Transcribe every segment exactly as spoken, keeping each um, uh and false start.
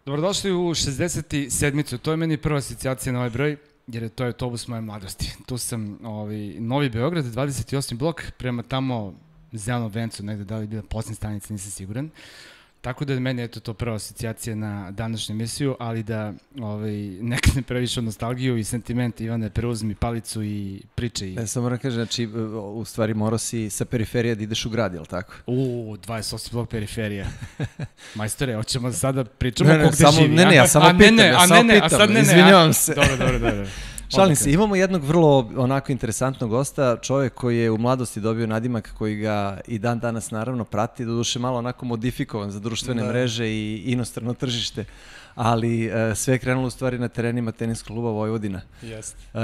Dobrodošli u šezdeset sedmicu. To je meni prva asocijacija na ovaj broj, jer je to autobus moje mladosti. Tu sam, ovaj, Novi Beograd, dvadeset osmi blok, prema tamo Zelenom vencu, negde da li je bila posljednja stanica, nisam siguran. Tako da je meni eto to prva asocijacija na današnju emisiju, ali da ovaj, nekad ne previše od nostalgiju i sentiment, Ivane, preuzmi palicu i priče. I... Ne, samo moram kažem, znači, u stvari morao si sa periferija da ideš u grad, je li tako? U, dvadeset osmi blok periferija. Majstore, hoćemo sada pričamo ne, ne, ko gde samo, živi. Ne, ne, ja samo a, pitam, ne, ja a samo ne, ne, pitam, a sad ne, ne, izvinjavam se. Dobro, dobro, dobro. Šalim se, imamo jednog vrlo onako interesantnog gosta, čovjek koji je u mladosti dobio nadimak koji ga i dan danas naravno prati, doduše malo onako modifikovan za društvene da. mreže i inostrano tržište, ali uh, sve je krenulo u stvari na terenima teniskog kluba Vojvodina. Jeste. Uh,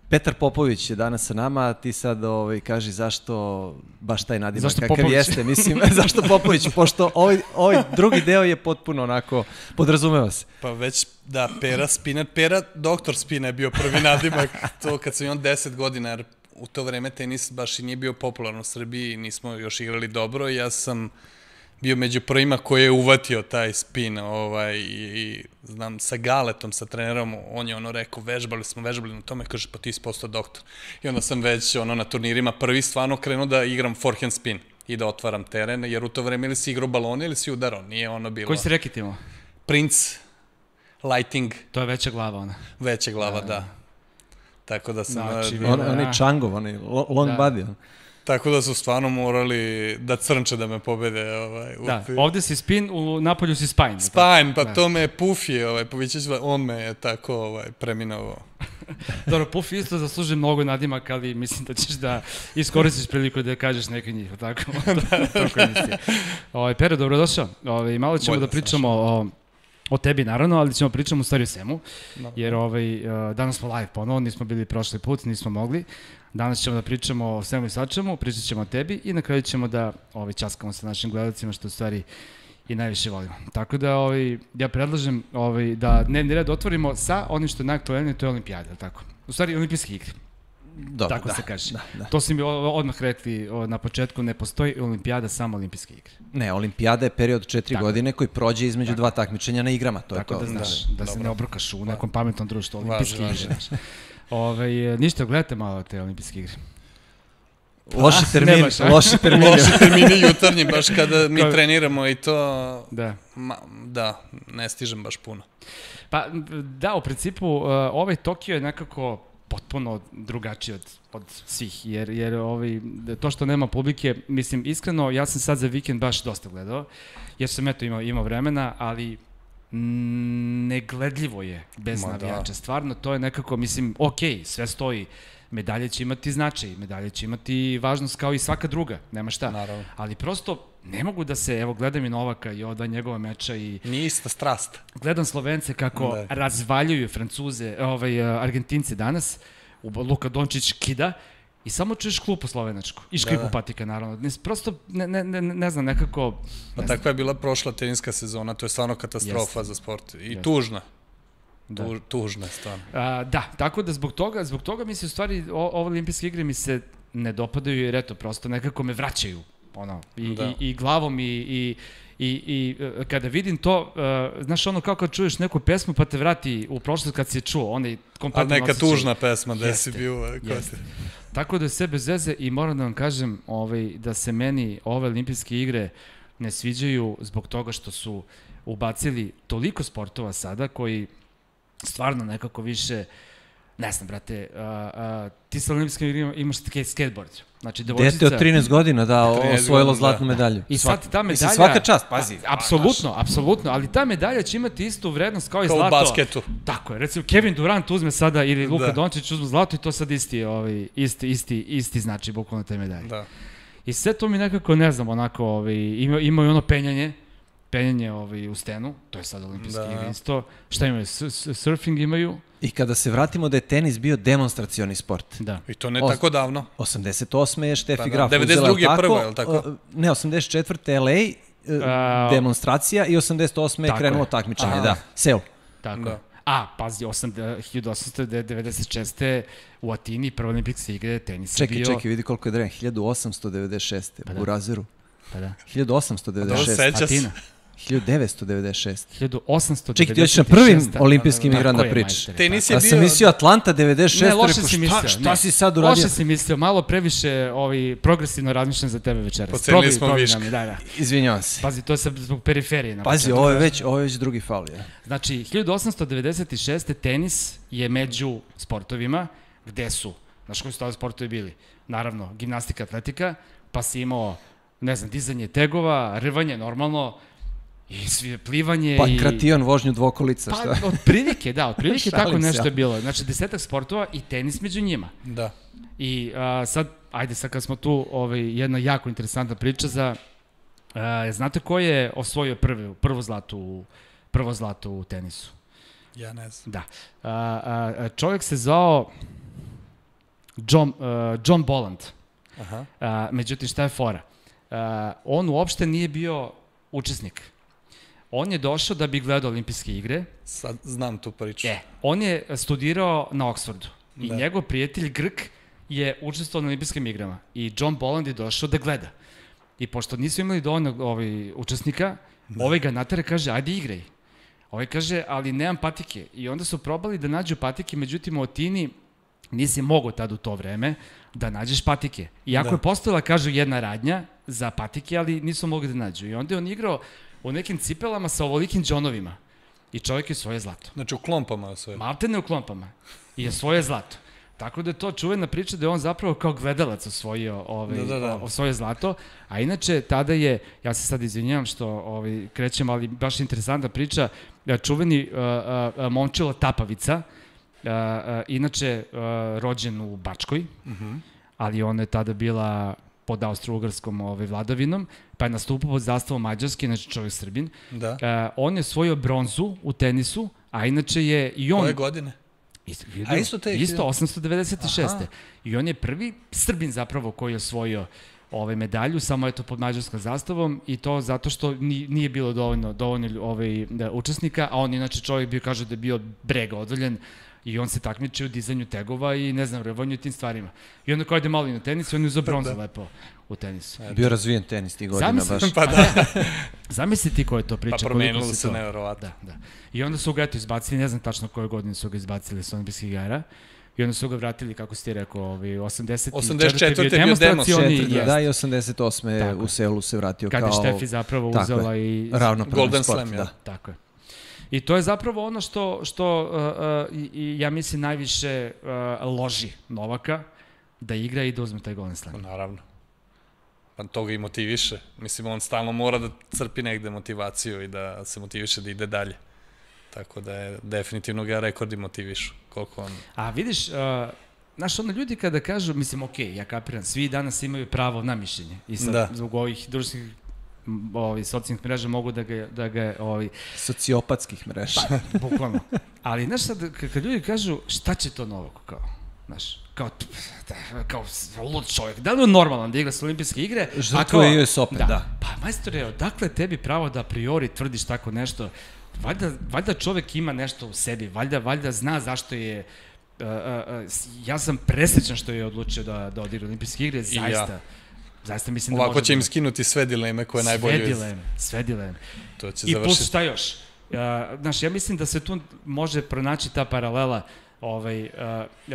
Petar Popović je danas sa nama, a ti sad ovaj, kaži zašto baš taj nadimak zašto kakav Popović? Jeste, mislim, zašto Popović, pošto ovaj, ovaj drugi deo je potpuno onako, podrazumeva se. Pa već, da, Pera Spina, Pera, doktor Spina je bio prvi nadimak, to kad sam imao deset godina, jer u to vreme tenis baš i nije bio popularan u Srbiji, nismo još igrali dobro, ja sam bio među prvima koji je uvatio taj spin, ovaj, i, i znam, sa Galetom, sa trenerom, on je ono rekao, vežbali smo, vežbali na tome, kaže, pa ti si postao doktor. I onda sam već ono, na turnirima prvi stvarno krenuo da igram forehand spin i da otvaram teren, jer u to vreme ili si igrao balone ili si udarao, nije ono bilo... Koji si reket imao? Prince, Lighting. To je veća glava ona. Veća glava, da. da. Tako da sam... Znači, on, on je Changov, on je long da. body. Tako da su stvarno morali da crnče da me pobede. Ovaj, da, ovde si spin, u napolju si spine. Spine, pa da. To me Pufi, ovaj, Povićeć, on me je tako ovaj, preminovao. Dobro, Pufi isto zaslužuje mnogo nadimak, ali mislim da ćeš da iskoristiš priliku da kažeš neke njih, tako? Tako emisije. Ovaj, Pero, dobrodošao. Ovaj, malo ćemo Bolje da pričamo o, o tebi, naravno, ali ćemo pričamo u stvari o svemu, jer ovaj, danas smo live ponovo, nismo bili prošli put, nismo mogli. Danas ćemo da pričamo o svemu i svačemu, pričat ćemo o tebi i na kraju ćemo da ovaj, časkamo sa našim gledalcima, što u stvari i najviše volimo. Tako da ovaj, ja predlažem ovaj, da dnevni red otvorimo sa onim što je najaktualnije, to je olimpijada, tako? U stvari, olimpijske igre. Dobro, tako da, se kaže. Da, da. To si mi odmah rekli na početku, ne postoji olimpijada, samo olimpijske igre. Ne, olimpijada je period četiri tako. godine koji prođe između tako. dva takmičenja na igrama, to tako je to. Tako da znaš, da, da se dobro. ne obrukaš u nekom pametnom društvu, olimpijske Važi, igre. Ove, ništa, gledajte malo te olimpijske igre. Loši termini, loši termini. Loši termini jutarnji, baš kada mi Ko... treniramo i to, da. Ma, da, ne stižem baš puno. Pa da, u principu, uh, ovaj Tokio je nekako potpuno drugačiji od, od svih, jer, jer ovaj, to što nema publike, mislim, iskreno, ja sam sad za vikend baš dosta gledao, jer sam eto imao, imao vremena, ali negledljivo je bez Ma, navijača. Da. Stvarno, to je nekako, mislim, okej, sve stoji. Medalje će imati značaj, medalje će imati važnost kao i svaka druga, nema šta. Naravno. Ali prosto ne mogu da se, evo gledam i Novaka i ova njegova meča i... Nije ista strast. Gledam Slovence kako da. razvaljuju Francuze, ovaj, Argentince danas, Luka Dončić kida i samo čuješ klupu slovenačku i škripu da, da. patika, naravno. Ne, prosto, ne, ne, ne, ne znam, nekako... Pa takva je bila prošla teniska sezona, to je stvarno katastrofa Jest. za sport i Jest. tužna. Da. Tu, tužna je stvarno. A, da, tako da zbog toga, zbog toga mi se u stvari, o, ove olimpijske igre mi se ne dopadaju jer eto, prosto nekako me vraćaju, ono, i, da. i, i glavom i, i, i, i kada vidim to, uh, znaš ono kao kad čuješ neku pesmu pa te vrati u prošlost kad si je čuo, onaj kompletno osjećaj. A neka tužna pesma da si bio. Jeste. Tako da je sve bez veze i moram da vam kažem ovaj, da se meni ove olimpijske igre ne sviđaju zbog toga što su ubacili toliko sportova sada koji stvarno nekako više, ne znam, brate, uh, uh, ti sa olimpijskim igrama imaš skateboard. Znači, devojčica... Dete od trinaest godina, da, osvojilo zlatnu medalju. I sad ta medalja... Mislim, svaka čast, pazi. Apsolutno, apsolutno, ali ta medalja će imati istu vrednost kao i kao zlato. Kao u basketu. Tako je, recimo Kevin Durant uzme sada ili Luka da. Dončić uzme zlato i to sad isti, ovaj, isti, isti, isti znači bukvalno te medalje. Da. I sve to mi nekako, ne znam, onako, ovaj, ima, ima i ono penjanje, penjanje ovaj, u stenu, to je sad olimpijski da. igre isto. Šta imaju? Surfing imaju. I kada se vratimo da je tenis bio demonstracioni sport. Da. I to ne Os, tako davno. osamdeset osme je Steffi pa, da. Graf devedeset druge je prvo, je li tako? Ne, osamdeset četvrte L A, uh, demonstracija i osamdeset osme je krenulo je. takmičenje, Aha. da, Seul. Tako da. A, pazi, hiljadu osamsto devedeset šeste u Atini, prva olimpijske igre, tenis čekaj, bio... Čekaj, čekaj, vidi koliko je dreven, hiljadu osamsto devedeset šeste. Pa da. U Razeru. Pa da. hiljadu osamsto devedeset šeste. Atina. hiljadu devetsto devedeset šeste. hiljadu osamsto Čekaj, devedeset šeste. ti hoćeš na prvim olimpijskim igrama da je, pričaš. Tenis je A bio... sam mislio Atlanta devedeset šeste. Ne, loše si šta, mislio. šta ne. si sad uradio? Loše si mislio, malo previše ovaj, progresivno razmišljam za tebe večeras. Pocenili smo Probi, viška. probi nam je, da, da. Izvinjavam se. Pazi, to je sad zbog periferije. Na Pazi, početku. ovo je već, ovo je već drugi faul. Ja. Znači, hiljadu osamsto devedeset šeste. tenis je među sportovima gde su, znaš koji su tada sportovi bili? Naravno, gimnastika, atletika, pa si imao, ne znam, dizanje tegova, rvanje normalno, i svi plivanje Pa i... kratijon vožnju dvokolica, šta? Pa, od prilike, da, od prilike tako Šalim se, nešto ja. je bilo. Znači, desetak sportova i tenis među njima. Da. I a, sad, ajde sad kad smo tu, ovaj, jedna jako interesantna priča za, a, znate ko je osvojio prvi, prvo zlato u, prvo zlato u tenisu? Ja ne znam. Da. A, a, čovjek se zvao John, uh, John Bolland. Aha. A, međutim, šta je fora? A, on uopšte nije bio učesnik. On je došao da bi gledao olimpijske igre. Sad znam tu priču. E, on je studirao na Oxfordu. I Da. njegov prijatelj Grk je učestvovao na olimpijskim igrama. I John Bolland je došao da gleda. I pošto nisu imali dovoljno ovaj, učesnika, da. ovaj ga natare kaže, ajde igraj. Ovaj kaže, ali nemam patike. I onda su probali da nađu patike, međutim u Atini nisi mogao tad u to vreme da nađeš patike. Iako Da. je postojala, kažu, jedna radnja za patike, ali nisu mogli da nađu. I onda je on igrao u nekim cipelama sa ovolikim džonovima. I čovjek je svoje zlato. Znači u klompama je sve. Malte ne u klompama. I je svoje zlato. Tako da je to čuvena priča da je on zapravo kao gledalac osvojio, ovaj, Da, da, da. osvojio zlato. A inače, tada je, ja se sad izvinjavam što ovaj, krećem, ali baš interesantna priča, čuveni uh, uh, Momčilo Tapavica, uh, uh, inače uh, rođen u Bačkoj, Uh -huh. ali ona je tada bila pod austro-ugarskom ovaj, vladavinom, pa je nastupao pod zastavom Mađarske, znači čovjek Srbin. Da. Uh, on je osvojio bronzu u tenisu, a inače je i on... Koje godine? Isto, A isto te- isto osamsto devedeset šeste. Aha. I on je prvi Srbin zapravo koji je osvojio ovaj medalju, samo eto pod mađarskom zastavom i to zato što ni, nije bilo dovoljno, dovoljno ovaj, da, učesnika, a on inače čovjek bio, kaže da je bio brega odvoljen i on se takmičio u dizanju tegova i ne znam, rvanju i tim stvarima. I onda kao ide malo i na tenis i on je uzao bronzu lepo u tenisu. Bio razvijen tenis tih godina Zamisli- baš. Pa da. Zamisli ti ko je to priča. Pa promenilo koliko se to- nevjerovatno. Da, da. I onda su ga eto izbacili, ne znam tačno koje godine su ga izbacili sa olimpijskih igara. I onda su ga vratili, kako si ti rekao, ovaj, osamdeset osamdeset četvrte je bio demonstracioni, Četiri, jest. da, i osamdeset osme Tako u je. Seulu se vratio Kad je kao Štefi zapravo tako uzela je, i... ravnopravan Golden sport. Slam, ja. da. Tako je. I to je zapravo ono što, što uh, uh, i, i ja mislim najviše uh, loži Novaka da igra i da uzme taj Golden Slam. Pa naravno. Pa to ga i motiviše. Mislim, on stalno mora da crpi negde motivaciju i da se motiviše da ide dalje. Tako da je definitivno ga rekordi motivišu. Koliko on... A vidiš, uh, znaš, ono ljudi kada kažu, mislim, ok, ja kapiram, svi danas imaju pravo na mišljenje. I sad, Da. zbog ovih društvenih ovi, socijalnih mreža mogu da ga, da ga ovi, Sociopatskih mreža. pa, bukvalno. Ali, znaš, sad, k- kad ljudi kažu, šta će to Novako, kao, znaš, kao, t- da, kao lud čovjek, da li je on normalan da igra sa olimpijske igre? A Žrtvuje kao- U S Open, da. Pa, majstore, odakle tebi pravo da a priori tvrdiš tako nešto? Valjda, valjda čovek ima nešto u sebi, valjda, valjda zna zašto je... Uh, uh, uh, ja sam presrećan što je odlučio da, da odigra olimpijske igre, zaista. ja. Zaista mislim da Ovako može će da... im skinuti sve dileme koje najbolje... Sve dileme, sve dileme. To će I plus završiti. šta još? Uh, znaš, ja mislim da se tu može pronaći ta paralela. Ovaj, uh,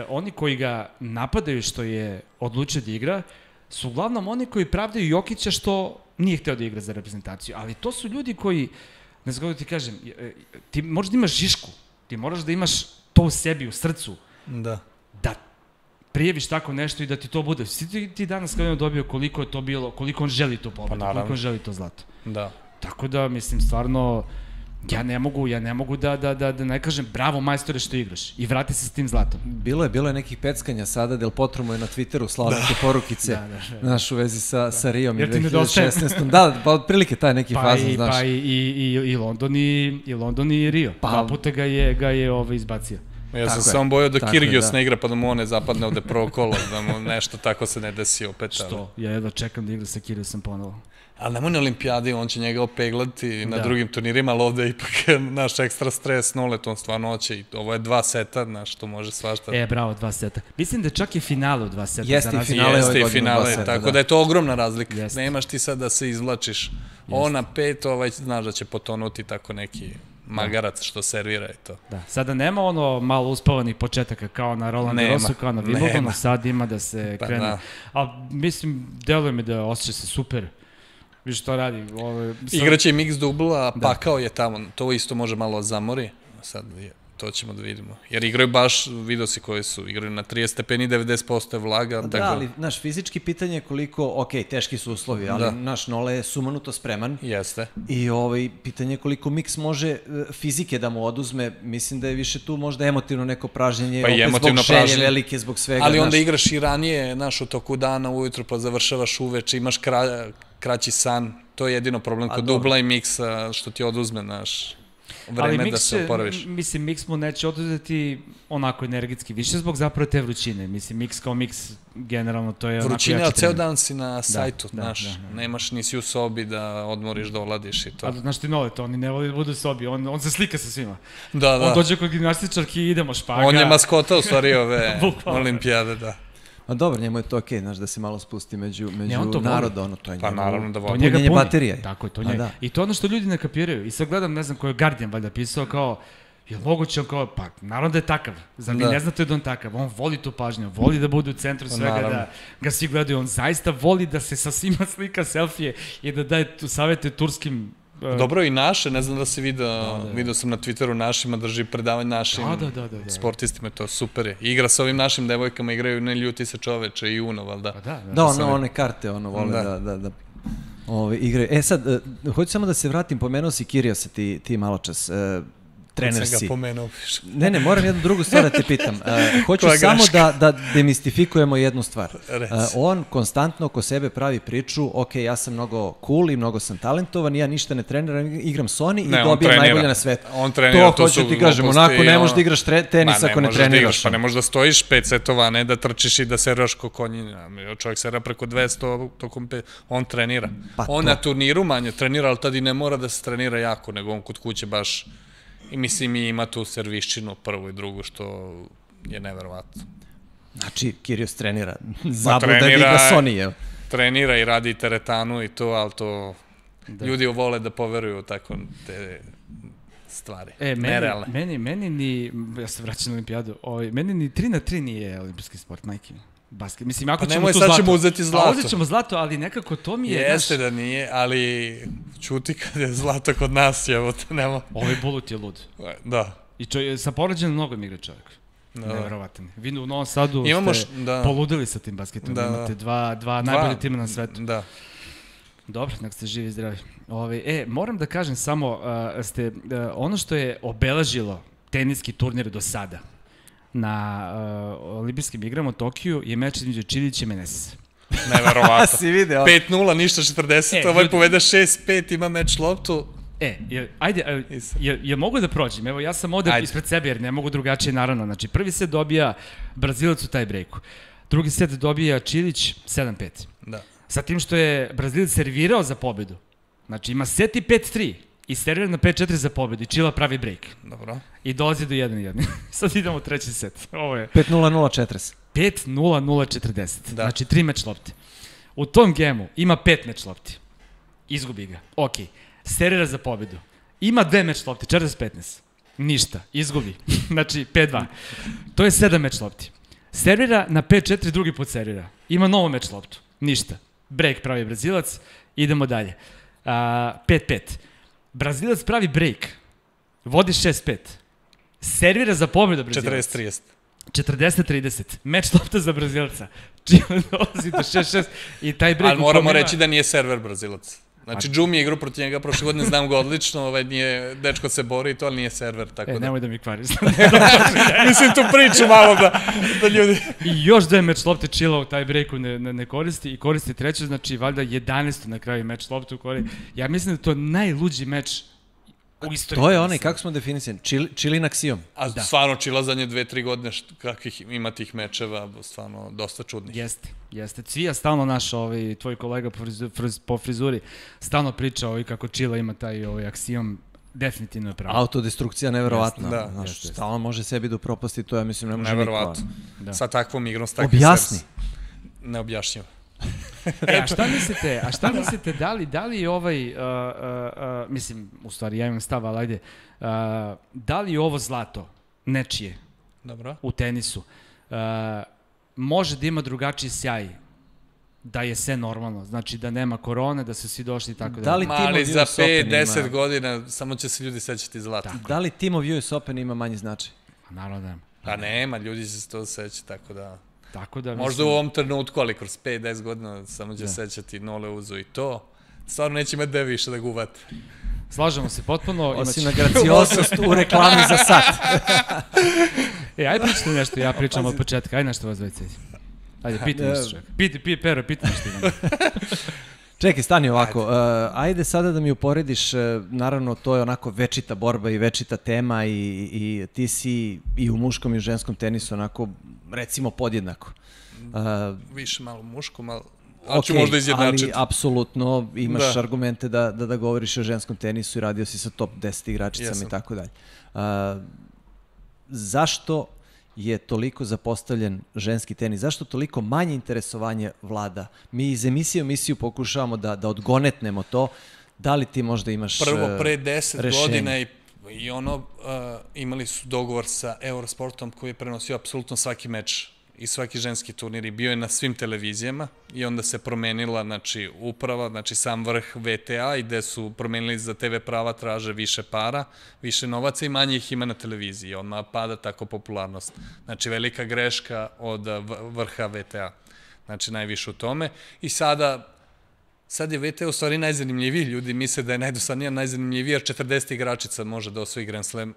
oni koji ga napadaju što je odlučio da igra, su uglavnom oni koji pravdaju Jokića što nije hteo da igra za reprezentaciju. Ali to su ljudi koji, ne znam kako da ti kažem, ti možeš da imaš žišku, ti moraš da imaš to u sebi, u srcu, Da. da prijeviš tako nešto i da ti to bude. Svi ti, ti danas kada je on dobio koliko je to bilo, koliko on želi to pobedu, naravno. koliko on želi to zlato. Da. Tako da, mislim, stvarno, ja ne mogu, ja ne mogu da, da, da, da ne kažem bravo majstore što igraš i vrati se s tim zlatom. Bilo je, bilo je nekih peckanja sada, Del Potro mu je na Twitteru slao neke porukice, Da, da, da. znaš, u vezi sa, sa Rijom i Jer ti dve hiljade nedostaje. šesnaestom. Da, pa otprilike taj neki Pa, fazon, i, znaš. pa i, i, i, i London i, i London i Rio. Pa- Dva puta ga je, ga je ovaj izbacio. Ja sam Tako je. samo bojao da Tako je, Kirgios da. ne igra pa da mu on ne zapadne ovde prvo kolo, da mu nešto tako se ne desi opet. Ali, Što? Ja jedva čekam da igra sa Kyrgiosem ponovo. ali nemoj na olimpijadi, on će njega opeglati na Da. drugim turnirima, ali ovde je ipak naš ekstra stres, nolet, on stvarno hoće i ovo je dva seta, znaš, to može svašta. E, bravo, dva seta. Mislim da čak i finale u dva seta. Jeste za i razliku- finale ove Jeste i godine u finale, dva seta, tako da. da. je to ogromna razlika. Jeste. Nemaš ti sad da se izvlačiš On na pet, ovaj, znaš da će potonuti tako neki magarac što servira i to. Da, sada nema ono malo uspavanih početaka kao na Roland Garrosu, kao na Wimbledonu, sad ima da se krene. Pa, da. A mislim, deluje mi da osjeća se super. Viš što radi. Ove, sad... Igraće i mix dubla, a pakao je tamo. To isto može malo zamori. Sad je, to ćemo da vidimo. Jer igraju baš, vidio si koji su, igraju na trideset stepeni, devedeset posto je vlaga. Da, tako... ali, naš, fizički pitanje je koliko, ok, teški su uslovi, ali da. Naš Nole je sumanuto spreman. Jeste. I ovaj, pitanje je koliko mix može fizike da mu oduzme, mislim da je više tu možda emotivno neko pražnjenje, pa opet zbog želje pražnje. Velike, zbog svega. Ali onda naš... igraš i ranije, naš, u toku dana, ujutru, pa završavaš uveče, imaš kra... kraći san, to je jedino problem kod dubla i miksa, što ti oduzme, naš... vreme ali da se oporaviš. Mislim, mix mu neće oduzeti onako energetski, više zbog zapravo te vrućine. Mislim, mix kao mix, generalno, to je onako jači trening. Vrućina, ceo dan si na sajtu, da, znaš, da, da, da. Nemaš, nisi u sobi da odmoriš, da oladiš i to. A znaš ti Nole, to oni ne voli da budu u sobi, on, on se slika sa svima. Da, da. On dođe kod gimnastičarki i idemo špaga. On je maskota u stvari ove olimpijade, da. A dobro, njemu je to okej, okay, znaš, da se malo spusti među, među naroda, ono, to je pa, njemu, naravno da voli. Punjenje baterije. Tako je, to njega. Da. I to ono što ljudi ne kapiraju. I sad gledam, ne znam, ko je Guardian valjda pisao kao, je moguće on kao, pa naravno da je takav. Zar vi da. Ne znate da on takav? On voli tu pažnju, voli da bude u centru svega, naravno. Da ga svi gledaju. On zaista voli da se sa svima slika selfije i da daje tu savete turskim... Dobro i naše, ne znam da si vidio, da, da, vidio sam na Twitteru našima, drži predavanje našim da, da, da, da, da. sportistima, to super je. Igra sa ovim našim devojkama, igraju Ne ljuti se čoveče i Uno, valjda. Da, da, da ono, one karte, ono, vole da, da, da, da ove, igraju. E sad, uh, hoću samo da se vratim, pomenuo si Kiriosa ti, ti malo čas. Uh, trener si. Pomenuo. Ne, ne, moram jednu drugu stvar da te pitam. Uh, hoću samo da, da demistifikujemo jednu stvar. Uh, on konstantno oko sebe pravi priču, ok, ja sam mnogo cool i mnogo sam talentovan, ja ništa ne treniram, igram Sony ne, i dobijam najbolje na svetu. On trenira, to, to hoću ti kažem, onako ne možeš da igraš tenis ako ne treniraš. Da igraš, pa ne možeš da stojiš pet setova, ne da trčiš i da seriraš ko konjina. Čovjek serira preko dvesta tokom pet, on trenira. Pa on to. Na turniru manje trenira, ali tad i ne mora da se trenira jako, nego on kod kuće baš... I mislim i ima tu serviščinu prvu i drugu što je neverovatno. Znači, Kyrgios trenira. Zabluda da igra Sony, je. Trenira i radi teretanu i to, ali to da. Ljudi vole da poveruju tako te stvari. E, meni, meni, meni ni, ja se vraćam na olimpijadu, ovaj, meni ni tri na tri nije olimpijski sport, majke mi. Basket. Mislim, ako pa ćemo tu zlato. Pa nemoj, sad ćemo uzeti zlato. A uzet ćemo zlato, ali nekako to mi je... Jeste naš... da nije, ali čuti kad je zlato kod nas, evo te nema... Ovaj Bulut je lud. Da. I čo, sa poređenom nogom igra čovjek. Da. Neverovatan. Vi u Novom Sadu Imamo ste š... da. poludili sa tim basketom. Da, imate dva, dva, dva najbolje tima na svetu. Da. Dobro, nek ste živi i zdravi. Ove, e, moram da kažem samo, uh, ste, uh, ono što je obeležilo teniski turnir do sada, na uh, olimpijskim igrama u Tokiju je meč između Čilića i Menesisa. Neverovatno. Si video. pet nula, ništa četrdeset, e, ovaj povede šest pet, ima meč loptu. E, je, ajde, je, je mogu da prođem? Evo, ja sam ovde ajde. Ispred sebe, jer ne mogu drugačije, naravno. Znači, prvi set dobija Brazilac u taj brejku. Drugi set dobija Čilić sedam pet. Da. Sa tim što je Brazilac servirao za pobedu. Znači, ima set i pet tri. I servira na pet četiri za pobedu i Čila pravi break. Dobro. I dolazi do jedan jedan. Sad idemo u treći set. Ovo je... pet nula nula četrdeset. pet nula nula četrdeset. Da. Znači, tri meč lopte. U tom gemu ima pet meč lopti. Izgubi ga. Ok. Servira za pobedu. Ima dve meč lopti, četrdeset petnaest. Ništa. Izgubi. Znači, pet dva. To je sedam meč lopti. Servira na pet četiri, drugi put servira. Ima novo meč loptu. Ništa. Break pravi Brazilac. Idemo dalje. Uh, pet pet. Brazilac pravi break. Vodi šest pet. Servira za pobedu Brazilac. četrdeset trideset. četrdeset trideset. Meč lopta za Brazilca. Čile dolazi do šest šest i taj break... Ali moramo ima... reći da nije server Brazilac. Znači, Džumi je igru protiv njega, prošle godine znam ga odlično, ovaj, nije, dečko se bori i to, ali nije server, tako e, da... nemoj da mi kvariš. Mislim, tu priču malo da, da ljudi... I još dve meč lopte Čila u taj breaku ne, ne, ne koristi i koristi treću, znači, valjda jedanaesto na kraju meč lopte u koristi. Ja mislim da to je najluđi meč u istoriji. To je onaj, kako smo definisani, Čilin aksijom. A da. Stvarno, Čila zadnje dve, tri godine, kakvih ima tih mečeva, stvarno, dosta čudnih. Jeste, jeste. Cvija stalno naš, ovaj, tvoj kolega po, frizu, friz, po frizuri, stalno priča ovaj, kako Čila ima taj ovaj, aksijom, definitivno je pravo. Autodestrukcija neverovatna. Da. Znaš, jeste, stalno može sebi da upropasti, to ja mislim ne može niko. Neverovatno. Da. Sa takvom igrom, s takvim Objasni. Neobjašnjivo. E, a šta mislite, a šta mislite, da li, da li ovaj, uh, uh, uh, mislim, u stvari, ja imam stav, ali ajde, uh, da li ovo zlato nečije Dobro. u tenisu uh, može da ima drugačiji sjaj da je sve normalno, znači da nema korone, da su svi došli i tako da. Da li Ma, tim ali of za U S Open pet ima- deset godina samo će se ljudi sećati zlata. Tako. Da li Team of U S Open ima manji značaj? Naravno da nema. Pa nema, ljudi će se to sećati, tako da... Tako da, Možda mislim, u ovom trenutku, ali kroz pet deset godina samo će Da. sećati Nole Uzo i to. Stvarno neće imati gde više da guvate. slažemo se potpuno. Osim imaće- na gracioznost u reklami za sat. E, aj pričajte nešto, ja pričam od početka, aj nešto vas dvojice. Ajde, pitaj nešto čovjek. Piti, piti, Pero, pitaj nešto. Ivana. Čekaj, stani ovako. Uh, ajde sada da mi uporediš, uh, naravno to je onako večita borba i večita tema i, i ti si i u muškom i u ženskom tenisu onako, recimo, podjednako. Uh, Više malo muško, malo... Ali ću ok, možda izjednačiti. ali apsolutno imaš Da. argumente da, da, da govoriš o ženskom tenisu i radio si sa top deset igračicama Jesam. i tako dalje. Uh, zašto je toliko zapostavljen ženski tenis? Zašto toliko manje interesovanje vlada? Mi iz emisije u emisiju pokušavamo da, da odgonetnemo to. Da li ti možda imaš Prvo, uh, pre deset rešenje? godina i, i ono, uh, imali su dogovor sa Eurosportom koji je prenosio apsolutno svaki meč i svaki ženski turnir i bio je na svim televizijama i onda se promenila, znači, uprava, znači sam vrh V T A i gde su promenili za T V prava, traže više para, više novaca i manje ih ima na televiziji. Odmah pada tako popularnost. Znači, velika greška od uh, v- vrha V T A. Znači, najviše u tome. I sada, sad je V T A u stvari najzanimljiviji. Ljudi misle da je najdosadnija, najzanimljiviji, jer četrdeset igračica može da osvoji Grand Slam,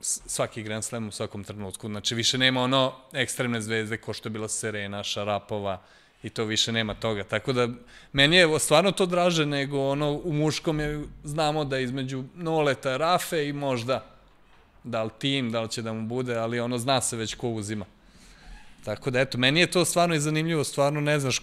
s- svaki Grand Slam u svakom trenutku. Znači, više nema ono ekstremne zvezde ko što je bila Serena, Šarapova i to više nema toga. Tako da, meni je stvarno to draže nego ono u muškom je, znamo da između Noleta, Rafe i možda da li tim, da li će da mu bude, ali ono zna se već ko uzima. Tako da, eto, meni je to stvarno i zanimljivo, stvarno ne znaš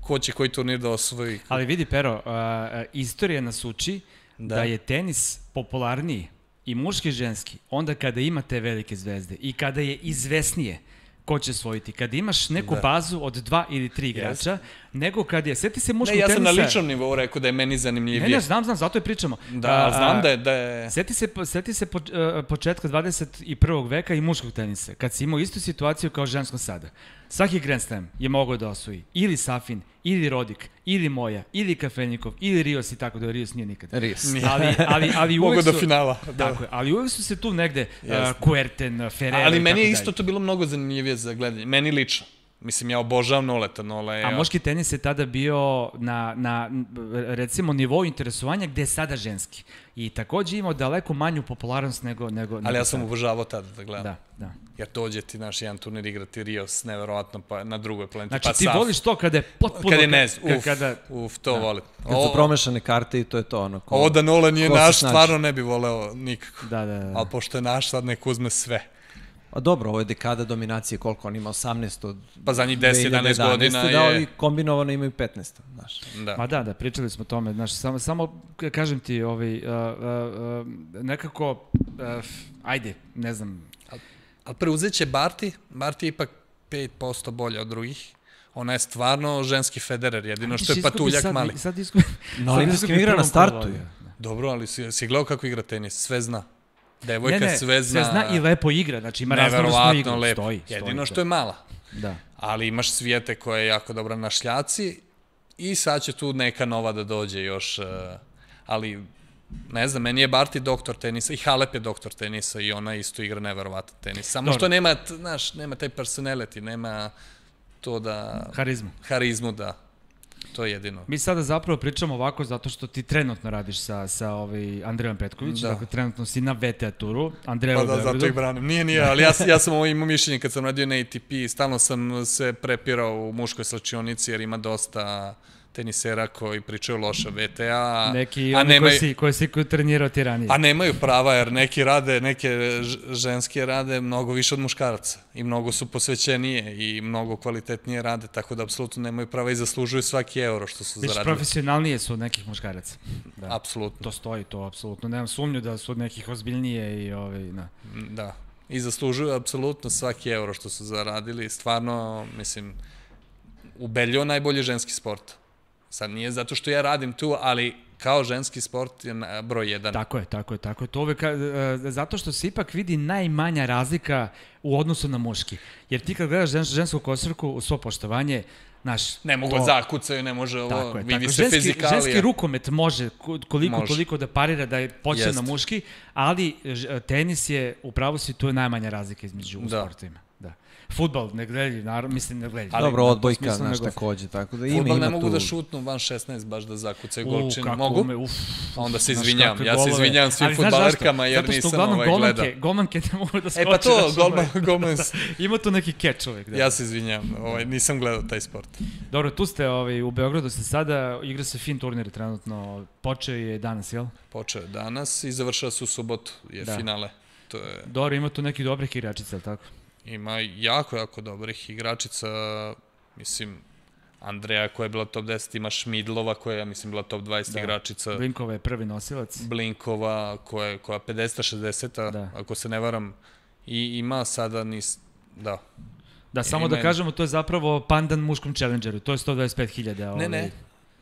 ko će koji turnir da osvoji. Ali vidi, Pero, uh, uh, istorija nas uči da. Da. da je tenis popularniji i muški i ženski onda kada ima te velike zvezde i kada je izvesnije ko će osvojiti. Kada imaš neku Da. bazu od dva ili tri igrača, nego kad je, sjeti se muškog Ne, ja tenisa... sam na ličnom nivou rekao da je meni Ne, zanimljivije. ne, znam, znam, zato je pričamo. Da, A, ali znam a, da je... Da je... Sjeti se, sjeti se po, uh, početka dvadeset prvog veka i muškog tenisa, kad si imao istu situaciju kao ženskom sada. Svaki Grand Slam je mogao da osvoji ili Safin, ili Rodik, ili Moja, ili Kafenikov, ili Rios i tako da Rios nije nikad. Ries. Nije. Ali, ali, ali Mogu uvek do su, finala. Da. tako je, ali uvek su se tu negde uh, Jeste. Kuerten, Ferrer Ali i meni tako je isto dalje. to bilo mnogo zanimljivije za gledanje. Meni lično. Mislim, ja obožavam Noleta. Nola je... A muški tenis je tada bio na, na recimo, nivou interesovanja gde je sada ženski. I takođe imao daleko manju popularnost nego, nego, nego Ali ja sam sada. obožavao tada da gledam. Da, da. Jer dođe ti naš jedan turnir igrati Rios, neverovatno, pa na drugoj planeti. Znači, pa ti Saf. voliš to kada je potpuno... Kad je nez, ka- uf, kada, uf, to volim. Kad su Ovo, promešane karte i to je to ono. Ko, ovo da Nola nije ko se naš, snađe. stvarno ne bi voleo nikako. Da, da, da. Ali pošto je naš, sad nek uzme sve. A dobro, ovo je dekada dominacije, koliko on ima, osamnaest od Pa zadnjih deset jedanaest godina da, je- ali kombinovano imaju petnaest, znaš. Da. Ma da, da, pričali smo o tome, znaš, samo, samo ka- kažem ti, ovaj, uh, uh, uh, nekako, uh, ajde, ne znam, Ali preuzet će Barty, Barty je ipak pet posto bolja od drugih. Ona je stvarno ženski Federer, jedino što je Izgubi patuljak sad, mali. Sad izgubi, Na sad olimpijskim izgubi igra na prvom startu kolu, je. da. Dobro, ali si, si gledao kako igra tenis, sve zna. Devojka Ne, ne, sve zna. sve zna i lepo igra, znači ima raznovrsnu Neverovatno igru, lepo. stoji, stoji. Jedino to. što je mala. Da. Ali imaš Svijete koja je jako dobra na šljaci i sad će tu neka nova da dođe još, uh, ali ne znam, meni je Barty doktor tenisa i Halep je doktor tenisa i ona isto igra neverovatan tenis. Samo Dobro. što nema, t- znaš, nema taj personality, nema to da... Harizmu. Harizmu, da. To je jedino. Mi sada zapravo pričamo ovako zato što ti trenutno radiš sa, sa ovaj Andrejom Petković, Da. dakle trenutno si na V T A turu, Andreja Pa u da, zato Beogradu. ih branim. Nije, nije, ali ja, s- ja sam ovo imao mišljenje kad sam radio na A T P, stalno sam se prepirao u muškoj slačionici jer ima dosta tenisera koji pričaju loše V T A, Neki a oni nemaju, koji si, koji si trenirao ti ranije. a nemaju prava jer neki rade, neke ž- ženske rade mnogo više od muškaraca i mnogo su posvećenije i mnogo kvalitetnije rade, tako da apsolutno nemaju prava i zaslužuju svaki euro što su Već zaradili. profesionalnije su od nekih muškaraca. Da. Apsolutno, To stoji, to apsolutno. Nemam sumnju da su od nekih ozbiljnije i ovaj, da. da. I zaslužuju apsolutno svaki euro što su zaradili. Stvarno, mislim, ubedljivo najbolji ženski sport. Sad nije zato što ja radim tu, ali kao ženski sport je broj jedan. Tako je, tako je, tako je. To uvek, zato što se ipak vidi najmanja razlika u odnosu na muški. Jer ti kad gledaš žens, žensku košarku, u svo poštovanje, naš... Ne mogu to... zakucaju, ne može ovo, tako je, vidi tako. se ženski, fizikalija. Ženski rukomet može koliko može. toliko da parira, da je počne na muški, ali tenis je, upravo si, tu je najmanja razlika između da. sportovima. Da. Fudbal ne gledaju, naravno, mislim ne gledaju. Dobro, odbojka, znaš, takođe, tako da ima, Fudbal ne ima mogu tu... da šutnu van šesnaest, baš da zakucaju golčinu. Kako mogu? Me, uf, a onda se izvinjam, ja se izvinjam svim ali, fudbalerkama jer nisam ovaj golmanke, gledao. Golmanke ne mogu da skoče. E pa to, golman, golman... Ima tu neki catch uvek. Da. Ja se izvinjam, ovaj, nisam gledao taj sport. Dobro, tu ste ovaj, u Beogradu, ste sada, igra se fin turnir trenutno, počeo je danas, jel? Počeo je danas i završava se u subotu, je da. finale. To je... Dobro, ima tu nekih dobrih igračica, ali tako? Ima jako, jako dobrih igračica, mislim, Andreja koja je bila top deset, ima Šmidlova koja je, ja mislim, bila top dvadeset da. igračica. Blinkova je prvi nosilac. Blinkova koja je koja pedeset šezdeset, da. ako se ne varam, i ima sada nis... da. Da, samo da kažemo, to je zapravo pandan muškom challengeru, to je sto dvadeset pet hiljada. Ovaj... Ne, ne,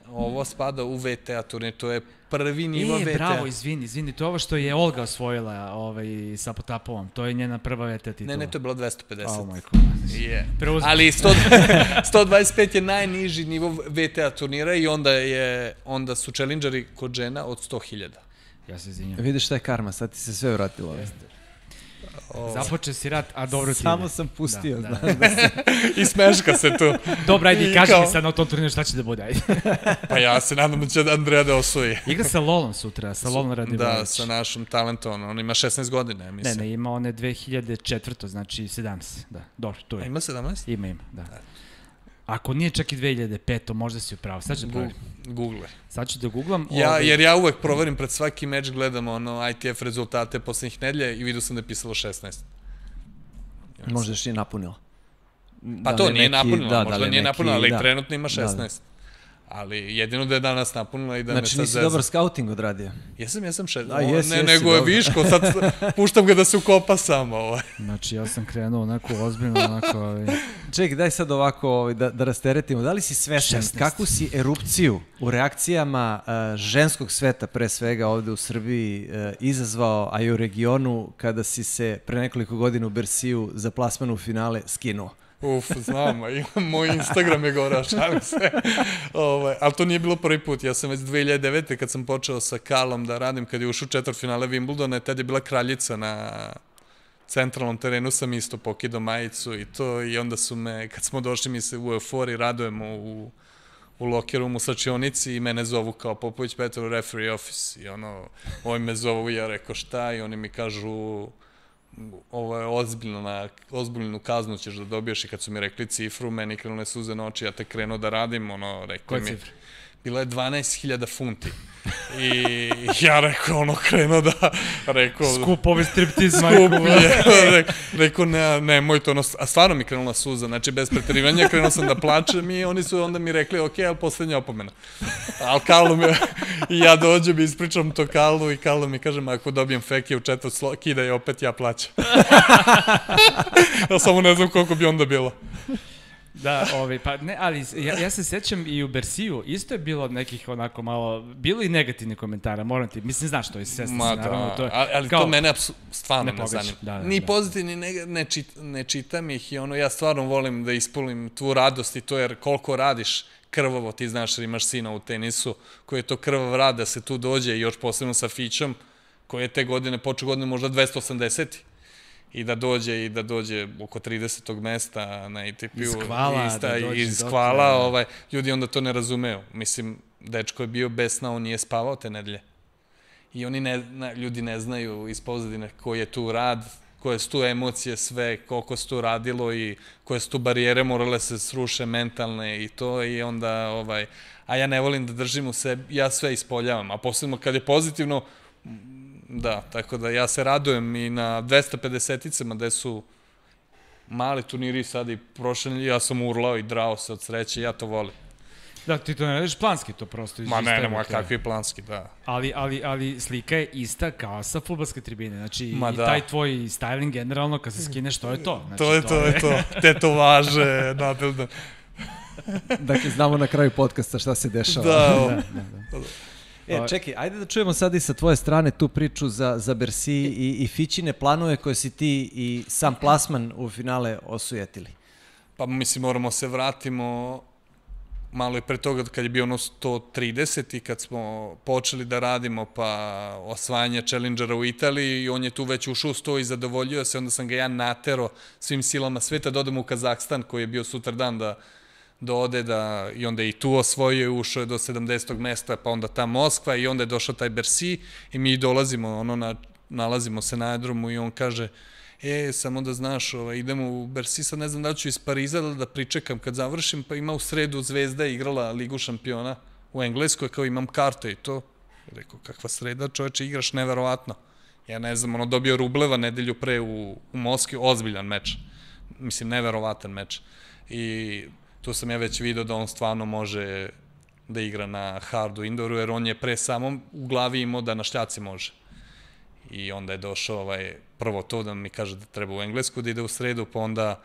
ovo spada u V T A turnir, to je prvi nivo V T A. E, bravo, izvini, izvini, to je ovo što je Olga osvojila ovaj, sa Potapovom, to je njena prva V T A titula. Ne, ne, to je bilo dvesta pedeset. Oh, majko. Yeah. Preuzim. Ali sto dvadeset pet je najniži nivo V T A turnira i onda, je, onda su challengeri kod žena od sto hiljada. Ja se izvinjam. Vidiš šta je karma, sad ti se sve vratilo. O... Započe si rat, a dobro ti ide. Samo sam pustio, da, znaš. Da. Da se... I smeška se tu. Dobro, ajde, kaži mi sad na tom turniru šta će da bude, ajde. Pa ja se nadam da će Andreja da osvoji. Igra sa Lolom sutra, sa Lolom Radivojević. Da, sa našom talentom, on ima šesnaest godina, mislim. Ne, ne, ima one dve hiljade četvrte, znači sedamnaest, da, dobro, tu je. A ima sedamnaest? Ima, ima, da. Ako nije čak i dve hiljade pete, možda si upravo. Sad ću da proverim. Google. Sad ću da googlam. Ja, ovaj... Jer ja uvek proverim pred svaki meč, gledam ono I T F rezultate poslednjih nedelja i vidio sam da je pisalo šesnaest. Možda još nije napunila. Pa da to nije neki, napunila, da, možda da nije neki, napunila, ali da. trenutno ima šesnaest. Da, da. Ali jedino da je danas napunila i da znači, me sad nisi zezam. dobar scouting odradio? Jesam, jesam šest. A, jes, ne, jesi, nego dobro. je viško, sad puštam ga da se ukopa samo. Ovaj. Znači, ja sam krenuo onako ozbiljno, onako... Ovaj... Čekaj, daj sad ovako ovaj, da, da rasteretimo. Da li si svestan kakvu si erupciju u reakcijama uh, ženskog sveta, pre svega ovde u Srbiji, uh, izazvao, a i u regionu, kada si se pre nekoliko godina u Bersiju za plasman u finale skinuo? Uf, znam, moj Instagram je gorao, šalim se. Ovaj, ali to nije bilo prvi put. Ja sam već dve hiljade devete kad sam počeo sa Kalom da radim, kad je ušao četvrtfinale Wimbledona, tad je bila kraljica na centralnom terenu, sam isto pokidao majicu i to, i onda su me, kad smo došli mi se u euforiji, radujemo u, u lokerumu u slačionici i mene zovu kao Popović Petrov referee office i ono, ovi me zovu i ja rekao šta i oni mi kažu ovo je ozbiljno, na ozbiljnu kaznu ćeš da dobiješ i kad su mi rekli cifru, meni krenule suze na oči, ja te krenuo da radim, ono, rekao mi... Cifra? Bilo je dvanaest hiljada funti. I ja rekao, ono, krenuo da, rekao... Skup ovaj striptiz, majku. Skup je, rekao, rekao, ne, nemoj to, ono, a stvarno mi krenula suza, znači, bez preterivanja, krenuo sam da plačem i oni su onda mi rekli, ok, ali poslednja opomena. Ali Karlo mi, i ja dođem i ispričam to Karlu i Karlo mi kažem, ako dobijem feke u četvrt slo, kida je opet ja plaćam. Ja samo ne znam koliko bi onda bilo. Da, ovaj, pa ne, ali ja, ja se sećam i u Bersiju, isto je bilo nekih onako malo, bilo i negativnih komentara, moram ti, mislim, znaš to je sestra, Ma, naravno, da, to je, ali kao, to mene stvarno ne, ne zanima. Da, da, ni da. pozitivni, ne, ne, čit, ne čitam ih i ono, ja stvarno volim da ispulim tu radost i to, jer koliko radiš krvavo, ti znaš jer imaš sina u tenisu, koji je to krvav rad da se tu dođe i još posebno sa Fićom, koji je te godine, počeo godine možda dvesta osamdeset i da dođe i da dođe oko tridesetog mesta na A T P-u. Iz Kvala. Ista, da dođe iz Kvala, da. ovaj, ljudi onda to ne razumeju. Mislim, dečko je bio bez sna, on nije spavao te nedelje. I oni ne, ne, ljudi ne znaju iz pozadine koji je tu rad, koje su tu emocije sve, koliko se tu radilo i koje su tu barijere morale se sruše mentalne i to i onda, ovaj, a ja ne volim da držim u sebi, ja sve ispoljavam, a posebno kad je pozitivno, da, tako da ja se radujem i na dvesta pedeseticama gde su mali turniri sad i prošle, ja sam urlao i drao se od sreće, ja to volim. Da, ti to ne radiš planski, to prosto iz Ma ne, nema kakvi planski, da. Ali, ali, ali slika je ista kao sa fudbalske tribine, znači Ma i da. taj tvoj styling generalno kad se skineš, to je to. Znači, to je to, to je to, tetovaže, nabildan. Dakle, znamo na kraju podcasta šta se dešava. Da, da, da, da. E, čekaj, ajde da čujemo sad i sa tvoje strane tu priču za, za Bercy i, i Fićine planove koje si ti i sam plasman u finale osujetili. Pa mislim, moramo se vratimo malo i pre toga kad je bio ono sto trideset i kad smo počeli da radimo pa osvajanje Challengera u Italiji i on je tu već ušao u sto i zadovoljio se, onda sam ga ja natero svim silama sveta da odemo u Kazahstan koji je bio sutradan da da ode da, i onda je i tu osvojio i ušao je do sedamdesetog mesta, pa onda ta Moskva i onda je došao taj Bercy i mi dolazimo, ono, na, nalazimo se na aerodromu i on kaže, e, samo da znaš, ovaj, idemo u Bercy, sad ne znam da ću iz Pariza da, da pričekam kad završim, pa ima u sredu Zvezda igrala Ligu šampiona u Engleskoj, kao imam karte i to. Rekao, kakva sreda, čoveče, igraš neverovatno. Ja ne znam, ono, dobio Rubleva nedelju pre u, u Moskvi, ozbiljan meč. Mislim, neverovatan meč. I tu sam ja već vidio da on stvarno može da igra na hardu indoru, jer on je pre samom u glavi imao da na šljaci može. I onda je došao ovaj, prvo to da mi kaže da treba u Englesku da ide u sredu, pa onda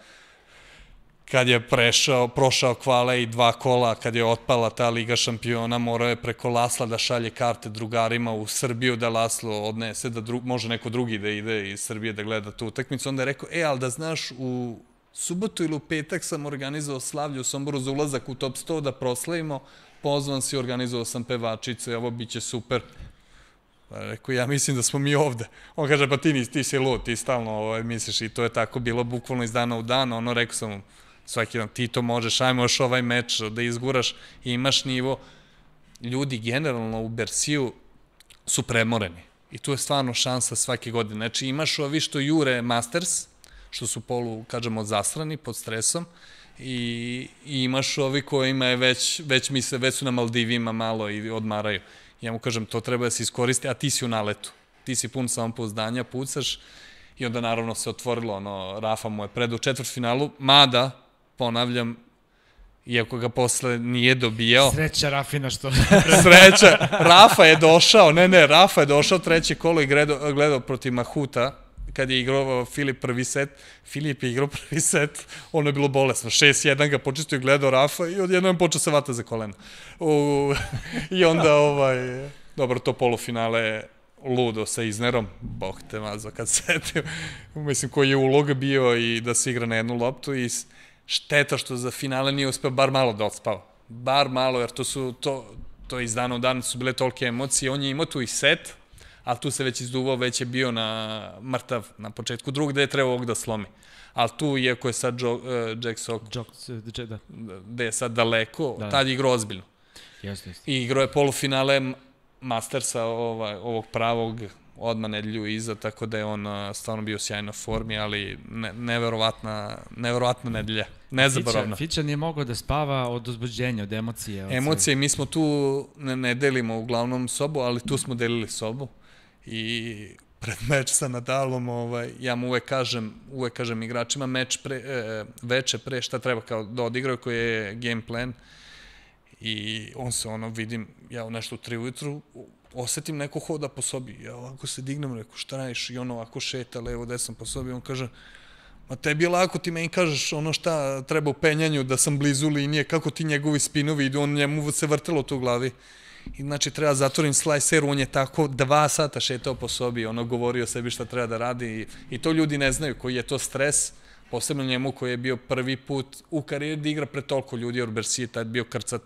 kad je prešao, prošao kvale i dva kola, kad je otpala ta Liga šampiona, morao je preko Lasla da šalje karte drugarima u Srbiju, da Laslo odnese, da dru, može neko drugi da ide iz Srbije da gleda tu utakmicu. Onda je rekao, e, ali da znaš, u subotu ili u petak sam organizovao slavlje u Somboru za ulazak u top sto da proslavimo, pozvan si, organizovao sam pevačice, ovo bit će super. Rekao, ja mislim da smo mi ovde. On kaže, pa ti nisi, ti si lud, ti stalno ovaj, misliš i to je tako bilo bukvalno iz dana u dan. Ono, rekao sam mu, svaki dan, ti to možeš, ajmo još ovaj meč da izguraš i imaš nivo. Ljudi generalno u Berciju su premoreni i tu je stvarno šansa svake godine. Znači imaš ovi što jure Masters, što su polu, kažemo, zasrani pod stresom i, i imaš ovi kojima je već, već misle, već su na Maldivima malo i odmaraju. Ja mu kažem, to treba da se iskoristi, a ti si u naletu. Ti si pun samopouzdanja, pucaš i onda naravno se otvorilo, ono, Rafa mu je pred u četvrtfinalu, mada, ponavljam, iako ga posle nije dobijao. Sreća Rafina što... Sreća, Rafa je došao, ne, ne, Rafa je došao treće kolo i gledao, gledao protiv Mahuta, kad je igrao Filip prvi set, Filip je igrao prvi set, ono je bilo bolesno, šest jedan ga počistio i gledao Rafa i odjednom je počeo se vata za kolena. U, I onda, ovaj, dobro, to polufinale ludo sa Iznerom, bog te mazo kad setim, mislim koji je uloga bio i da se igra na jednu loptu i šteta što za finale nije uspeo bar malo da odspava. Bar malo, jer to su, to, to iz dana u dan su bile tolike emocije, on je imao tu i set, ali tu se već izduvao, već je bio na mrtav na početku drugog, gde je trebao ovog da slomi. Ali tu, iako je sad jo, uh, Jack Sock, da. gde je sad daleko, da. Tad je igrao ozbiljno. Jeste, jeste. I igrao je polufinale Mastersa ovaj, ovog pravog odmah nedelju iza, tako da je on uh, stvarno bio sjajno formi, ali ne, neverovatna, neverovatna nedelja. Nezaboravna. Fića, Fića nije mogao da spava od uzbuđenja, od emocije. Od emocije, mi smo tu, ne, ne delimo uglavnom sobu, ali tu smo delili sobu. I pred meč sa Nadalom, ovaj, ja mu uvek kažem, uvek kažem igračima, meč pre, e, veče pre šta treba kao da odigraju, koji je game plan. I on se ono, vidim, ja u nešto u tri ujutru, osetim neko hoda po sobi. Ja ovako se dignem, reku, šta radiš? I on ovako šeta levo, desno po sobi. On kaže, ma tebi je lako, ti meni kažeš ono šta treba u penjanju, da sam blizu linije, kako ti njegovi spinovi idu, on njemu se vrtelo to u glavi. I znači treba zatvorim slicer, on je tako dva sata šetao po sobi, ono govorio sebi šta treba da radi i, i to ljudi ne znaju, koji je to stres, posebno njemu koji je bio prvi put u karijeri da igra pred toliko ljudi, jer Bercy je tad bio krcat.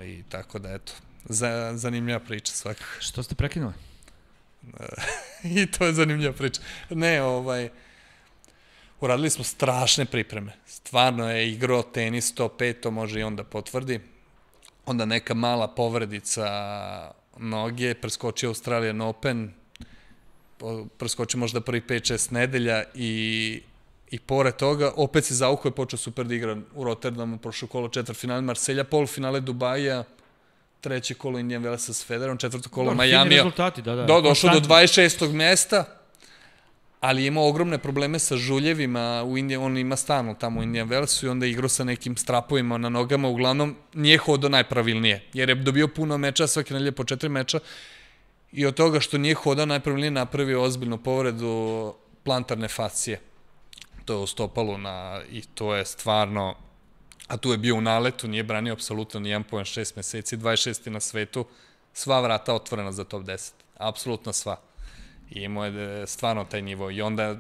I tako da, eto, za, zanimljiva priča svakako. Što ste prekinuli? I to je zanimljiva priča. Ne, ovaj, uradili smo strašne pripreme. Stvarno je igrao tenis sto pet, to može i on da potvrdi. Onda neka mala povredica noge, preskočio Australian Open, preskočio možda prvi pet šest nedelja i, i pored toga opet se zaukao i počeo super da igra u Rotterdamu, prošlo kolo četvrtfinale Marselja, polufinale Dubaja, treće kolo Indian Wellsa s Federerom, četvrto kolo Majamija. Fini rezultati, da, da. Do, došao do dvadeset šestog mesta, ali je imao ogromne probleme sa žuljevima, u Indijan, on ima stalno tamo u Indian Wellsu i onda je igrao sa nekim strapovima na nogama, uglavnom nije hodao najpravilnije, jer je dobio puno meča, svake nedelje po četiri meča i od toga što nije hodao najpravilnije napravio ozbiljnu povredu plantarne fascije. To je u stopalu na, i to je stvarno a tu je bio u naletu, nije branio apsolutno ni jedan poen šest meseci, dvadeset šesti na svetu, sva vrata otvorena za top deset. Apsolutno sva. I imao je stvarno taj nivo. I onda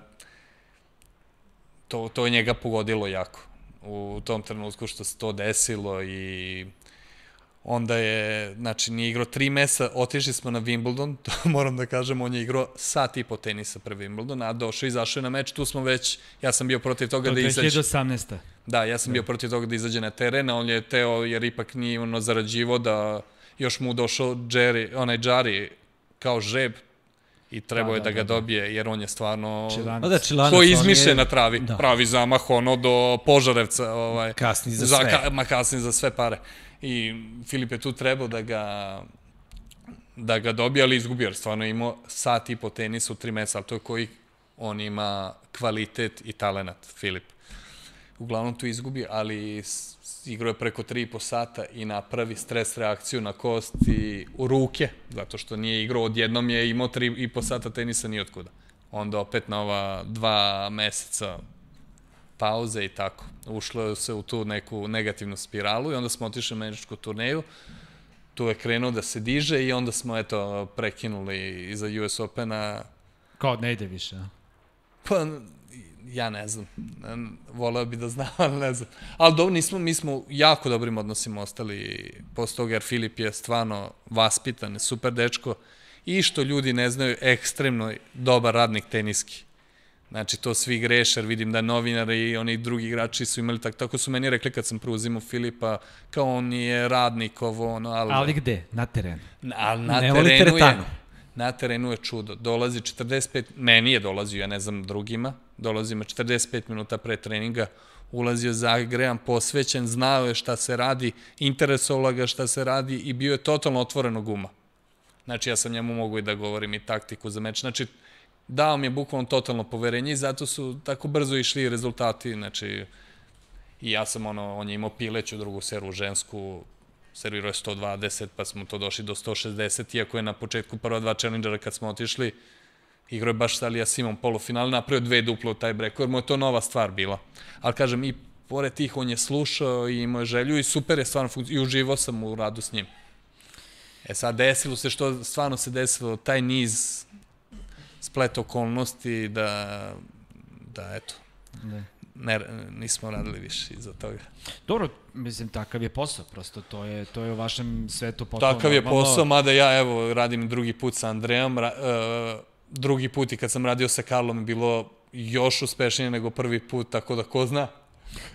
to, to je njega pogodilo jako u tom trenutku što se to desilo i onda je, znači, nije igrao tri mesa, otišli smo na Wimbledon, to moram da kažem, on je igrao sat i po tenisa pre Wimbledon, a došao i izašao je na meč, tu smo već, ja sam bio protiv toga da izađe. dve hiljade osamnaeste. Da, ja sam bio protiv toga da izađe na teren, a on je teo, jer ipak nije ono zarađivo, da još mu došao Jerry, onaj Jari kao žreb i trebao je da ga dobije, jer on je stvarno ko izmišljen na travi, pravi zamah, ono do Požarevca. Kasni za sve. Ma kasni za sve pare. I Filip je tu trebao da ga da ga dobije, ali izgubio, jer stvarno je imao sat i po tenisa u tri meseca, ali to je koji on ima kvalitet i talenat, Filip. Uglavnom tu izgubi, ali igrao je preko tri i po sata i napravi stres reakciju na kost i u ruke, zato što nije igrao, odjednom je imao tri i po sata tenisa ni otkuda. Onda opet na ova dva meseca pauze i tako. Ušlo se u tu neku negativnu spiralu i onda smo otišli na američku turneju. Tu je krenuo da se diže i onda smo, eto, prekinuli iza U S Opena. Kao ne ide više, a? Pa, ja ne znam. Voleo bi da znam, ali ne znam. Ali dobro, nismo, mi smo jako dobrim odnosima ostali posle toga, jer Filip je stvarno vaspitan, super dečko i što ljudi ne znaju, ekstremno dobar radnik teniski. Znači, to svi greše, jer vidim da novinari i oni drugi igrači su imali tako. Tako su meni rekli kad sam preuzimao Filipa, kao on je radnik, ovo, ono, ali... Ali gde? Na terenu? Ali na terenu je... Na terenu je čudo. Dolazi četrdeset pet... Meni je dolazio, ja ne znam drugima. Dolazi me četrdeset pet minuta pre treninga. Ulazio zagrejan, posvećen, znao je šta se radi, interesovala ga šta se radi i bio je totalno otvorenog uma. Znači, ja sam njemu mogu i da govorim i taktiku za meč. Znači, dao mi je bukvalno totalno poverenje i zato su tako brzo išli rezultati. Znači, i ja sam ono, on je imao pileću drugu servu žensku, servirao je sto dvadeset, pa smo to došli do sto šezdeset, iako je na početku prva dva challengera kad smo otišli, igrao je baš Salija Simon polufinal, napravio dve duple u taj breku, jer mu je to nova stvar bila. Ali kažem, i pored tih on je slušao i imao je želju i super je stvarno funkcionirao i uživao sam u radu s njim. E sad, desilo se što stvarno se desilo, taj niz splet okolnosti da, da eto, ne, nismo radili više iza toga. Dobro, mislim, takav je posao, prosto, to je, to je u vašem svetu potpuno. Takav je posao, mada ja, evo, radim drugi put sa Andrejom, ra, uh, drugi put i kad sam radio sa Karlom je bilo još uspešnije nego prvi put, tako da ko zna.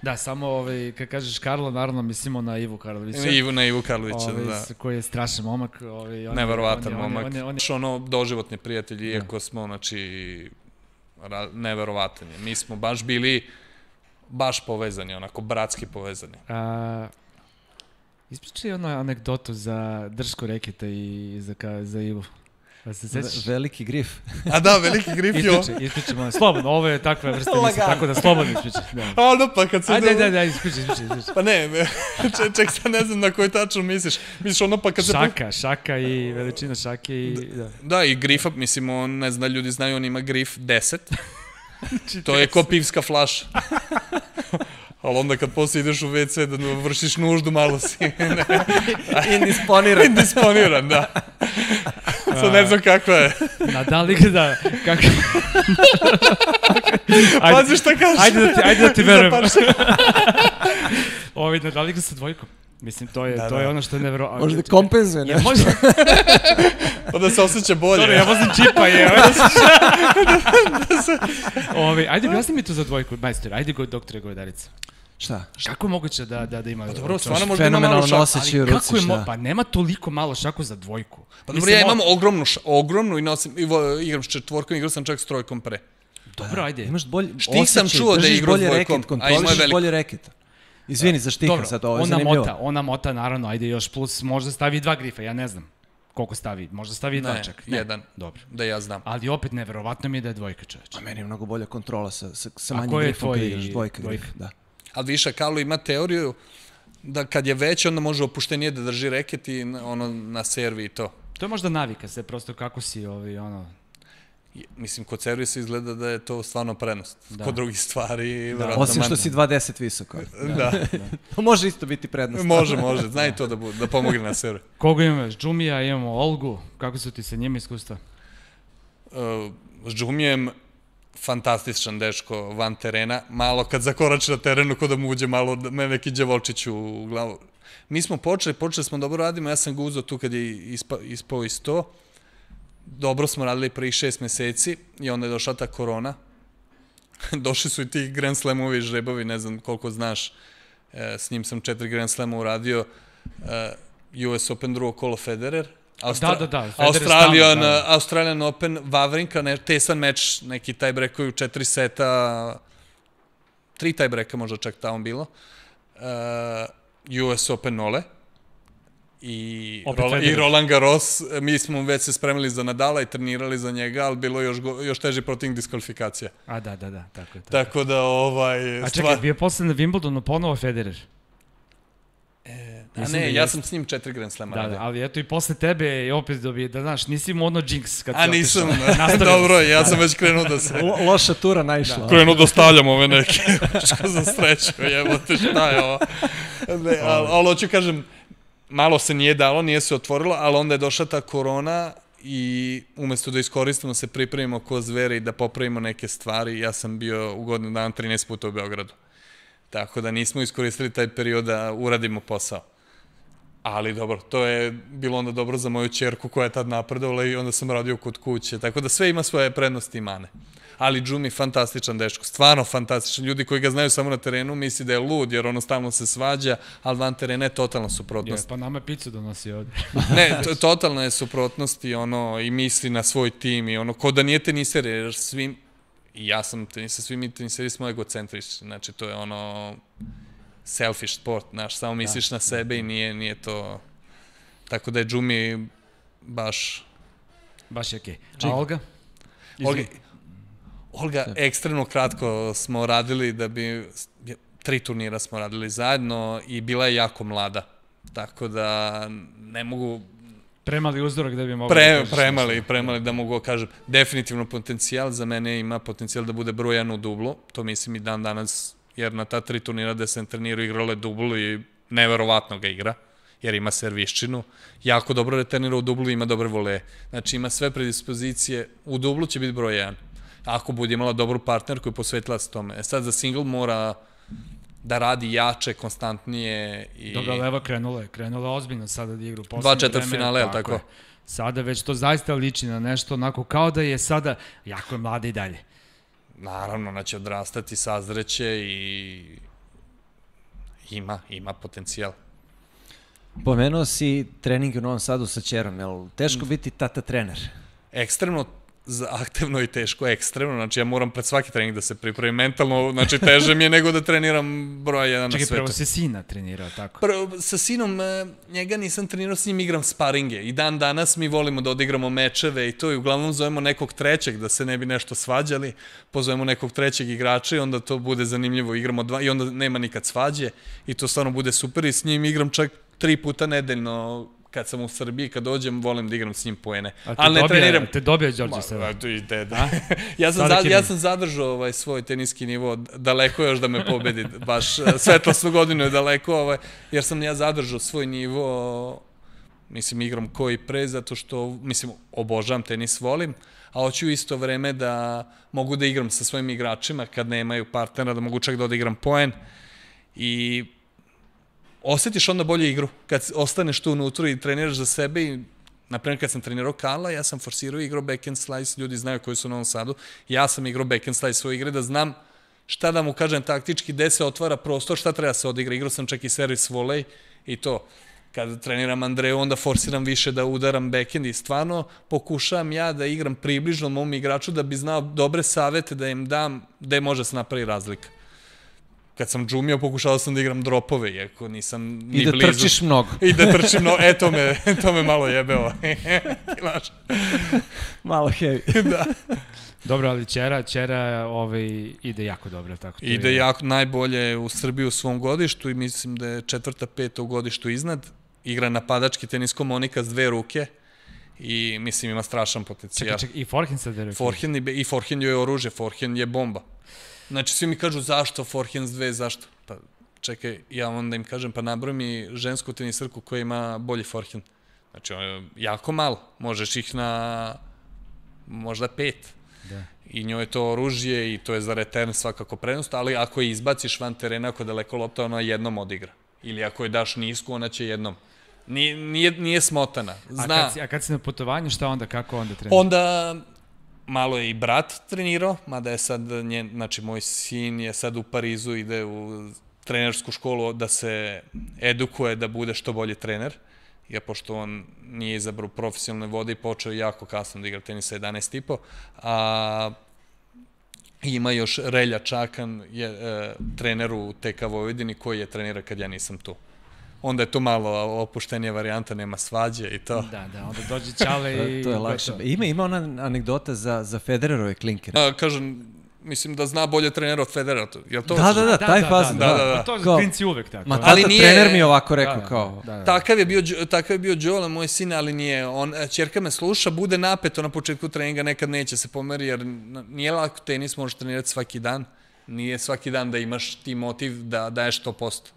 Da, samo, ovaj, kad kažeš Karlo, naravno mislimo na Ivu Karlovića. Ivu, na Ivu Karlovića, ovaj, da. Koji je strašan momak. Ovaj, on, neverovatan on, momak. On je, on je, on je, ono, doživotni prijatelji, iako smo, znači, neverovatan je. Mi smo baš bili baš povezani, onako, bratski povezani. A, ispričaj ono anegdotu za dršku reketa i za, ka, za Ivu. Pa se sećaš? Veliki grif. A da, veliki grif, jo. Ispričaj, ispričaj, molim. Slobodno, ovo je takva vrsta misli, tako da slobodno ispričaj. Da. A ono pa kad se... Ajde, ajde, ajde, ispričaj, ispričaj, ispričaj. Pa ne, ček, ček, sad ne znam na koji tačno misliš. Misliš ono pa kad se... Šaka, šaka i veličina šake i... Da, da i grifa, mislim, on, ne znam da ljudi znaju, on ima grif deset. To je ko pivska flaša. Ali onda kad posle ideš u ve ce da vršiš nuždu, malo si... Indisponiran. Indisponiran, da. Sad ne znam kakva je. Nadal igra, kako... Pazi šta kažeš. Ajde da ti, ajde da ti verujem. Ovi, Nadal igra sa dvojkom. Mislim, to je, da, to da. je ono što je nevjerovatno. Možda da kompenzuje nešto. Može... Da se osjeća bolje. Dobro, ja vozim čipa, je. Ovi, ajde, objasni mi to za dvojku, majstor. Ajde, go, doktore Govedarica. Šta? Kako je moguće da, da, da ima... Pa dobro, stvarno možda ima malo šaku. Noseći u ruci, šta? Pa nema toliko malo šaku za dvojku. Pa dobro, ja imam ogromnu, ogromnu i nosim, igram s četvorkom, igram sam čak s trojkom pre. Dobro, ajde. Imaš bolje Štih sam čuo da je igrao s dvojkom, a imaš bolje reket. Izvini za štiha sad, ovo je zanimljivo. Ona mota, ona mota, naravno, ajde još plus, možda stavi dva grifa, ja ne znam koliko stavi, možda stavi dva čak. Ne, jedan, dobro. Da ja znam. Ali opet, neverovatno mi je da je dvojka, čoveč. A meni je mnogo bolja kontrola sa, sa, sa manjim grifom kada igraš dvojka grif. Da. Ali viša, Karlo ima teoriju da kad je već, onda može opuštenije da drži reket i ono na servi i to. To je možda navika se, prosto kako si, ovi, ono... Mislim, kod servisa izgleda da je to stvarno prednost. Da. Kod drugih stvari... Da. Osim što si dva deset visoko. Da. da. da. Može isto biti prednost. Može, može. Zna i to da, bu, da pomogne na server. Koga imaš? Džumija, imamo Olgu. Kako su ti sa njima iskustva? Uh, s Džumijem fantastičan dečko van terena. Malo kad zakorači na terenu, kod da mu uđe malo me neki đavolčić u glavu. Mi smo počeli, počeli smo dobro radimo. Ja sam ga uzao tu kad je ispa, ispao iz to. Dobro smo radili prvih šest meseci i onda je došla ta korona. Došli su i ti Grand Slamovi žrebovi, ne znam koliko znaš. E, s njim sam četiri Grand Slama uradio. E, U S Open drugo kolo Federer. Austra da, da, da. Australian, da, da. Australian Open, Vavrinka, ne, tesan meč, neki tiebreakovi u četiri seta, tri tiebreaka možda čak tamo bilo. E, U S Open nole. I, Roland, i Roland Garros, mi smo već se spremili za Nadala i trenirali za njega, ali bilo još, još teži protiv diskvalifikacija. A da, da, da, tako je. Tako, tako da, ovaj... A čekaj, bio posle na Wimbledonu ponovo Federer? E, a ne, da ja sam s njim četiri Grand Slama. Da, da, ali eto i posle tebe i opet dobije, da znaš, nisi mu ono jinx kad a, nisam, dobro, ja sam već krenuo da se... Lo, loša tura naišla. Da. Krenuo da stavljam ove neke, što za sreću, jebote, šta je ovo. Ne, ali, ali hoću kažem, malo se nije dalo, nije se otvorilo, ali onda je došla ta korona i umesto da iskoristimo se pripremimo ko zvere i da popravimo neke stvari, ja sam bio u godinu dana trinaest puta u Beogradu. Tako da nismo iskoristili taj period da uradimo posao. Ali dobro, to je bilo onda dobro za moju ćerku koja je tad napredovala i onda sam radio kod kuće. Tako da sve ima svoje prednosti i mane. Ali Džumi, fantastičan dečko, stvarno fantastičan. Ljudi koji ga znaju samo na terenu misli da je lud, jer ono stalno se svađa, ali van terena je totalna suprotnost. Je, pa nama picu donosi ovde. Ne, to, totalna je suprotnost i, ono, i misli na svoj tim i ono, ko da nije teniser, jer svim, i ja sam teniser, svi mi teniseri smo egocentrični, znači to je ono selfish sport, znaš, samo misliš da. na sebe i nije, nije to, tako da je Džumi baš... Baš je okej. Okay. A Olga? Olga, Olga, ekstremno kratko smo radili da bi, tri turnira smo radili zajedno i bila je jako mlada, tako da ne mogu... Premali uzdorak da bi mogli... Pre, premali, premali da mogu kažem. Definitivno potencijal, za mene ima potencijal da bude broj jedan u dublu, to mislim i dan danas, jer na ta tri turnira gde sam trenirao igrala je dublu i neverovatno ga igra, jer ima serviščinu, jako dobro returnira u dublu i ima dobre voleje. Znači ima sve predispozicije, u dublu će biti broj jedan. Ako bude imala dobru partnerku i posvetila se tome. E sad za single mora da radi jače, konstantnije. I... Dobro, Leva krenula je, krenula je ozbiljno sada da igra u poslednje vreme. Dva četvrt finale, je li tako? Sada već to zaista liči na nešto onako kao da je sada, jako je mlada i dalje. Naravno, ona će odrastati, sazreće i ima, ima potencijal. Pomenuo si trening u Novom Sadu sa ćerom, je li teško biti tata trener? Ekstremno zahtevno i teško, ekstremno, znači ja moram pred svaki trening da se pripravim mentalno, znači teže mi je nego da treniram broj jedan na svetu. Čekaj, prvo si sina trenirao, tako? Prvo, sa sinom, njega nisam trenirao, s njim igram sparinge i dan danas mi volimo da odigramo mečeve i to i uglavnom zovemo nekog trećeg da se ne bi nešto svađali, pozovemo nekog trećeg igrača i onda to bude zanimljivo, igramo dva i onda nema nikad svađe i to stvarno bude super i s njim igram čak tri puta nedeljno. Kad sam u Srbiji, kad dođem, volim da igram s njim poene. Ali ne treniram. A te dobija Đorđe sada? Ma, tu i deda. ja, sam za, ja sam zadržao ovaj, svoj teniski nivo, daleko još da me pobedi, baš svetlosnu godinu je daleko, ovaj, jer sam ja zadržao svoj nivo, mislim, igram koji pre, zato što, mislim, obožavam tenis, volim, a hoću isto vreme da mogu da igram sa svojim igračima, kad nemaju partnera, da mogu čak da odigram poen i osjetiš onda bolje igru, kad ostaneš tu unutra i treniraš za sebe i, naprimjer, kad sam trenirao Karla, ja sam forsirao i igrao backhand slice, ljudi znaju koji su u Novom Sadu, ja sam igrao backhand slice svoje igre, da znam šta da mu kažem taktički, gde se otvara prostor, šta treba se odigra, igrao sam čak i servis volej i to. Kad treniram Andreju, onda forsiram više da udaram backhand i stvarno pokušavam ja da igram približno mom igraču, da bi znao dobre savete da im dam, gde može se napravi razlika. Kad sam džumio, pokušao sam da igram dropove, iako nisam ni blizu. I da trčiš mnogo. I da trčim mnogo. E, to me, to me malo jebeo. Malo heavy. Da. Dobro, ali Ćera, Ćera ovaj, ide jako dobro. Tako to ide je... jako najbolje u Srbiji u svom godištu i mislim da je četvrta, peta u godištu iznad. Igra napadački tenis komunika s dve ruke i mislim ima strašan potencijal. Čekaj, čekaj, i forehand sad veruje. Forehand i, i forehand je oružje, forehand je bomba. Znači, svi mi kažu zašto forehand dve, zašto? Pa čekaj, ja onda im kažem, pa nabroj mi žensku tenisarku koja ima bolji forehand. Znači, ono je jako malo. Možeš ih na možda pet. Da. I njoj je to oružje i to je za return svakako prednost, ali ako je izbaciš van terena, ako je daleko lopta, ona jednom odigra. Ili ako je daš nisku, ona će jednom. Nije, nije, nije smotana. Zna. A kad, si, a kad si na putovanju, šta onda, kako onda treniraš? Onda malo je i brat trenirao, mada je sad, njen, znači moj sin je sad u Parizu, ide u trenersku školu da se edukuje da bude što bolji trener. Ja, pošto on nije izabrao profesionalne vode i počeo jako kasno da igra tenisa jedanaest i po, a ima još Relja Čakan, je e, trener u T K Vojvodini koji je trenira kad ja nisam tu. Onda je to malo opuštenija varijanta, nema svađe i to. Da, da, onda dođe Ćale i... To je lakše. Ima, ima ona anegdota za, za Federerove klinkere. A, kažem, mislim da zna bolje trenera od Federera. Jel to? Da, da, da, taj fazon. Da, da, da. Pa to je Kao, klinci uvek tako. Ma Ali tata, nije- trener mi je ovako rekao, Da, da, kao... da, da. Takav je bio, takav je bio Đola, moj sin, ali nije. On, ćerka me sluša, bude napeto na početku treninga, nekad neće se pomeri, jer nije lako tenis, možeš trenirati svaki dan. Nije svaki dan da imaš ti motiv da daješ sto posto.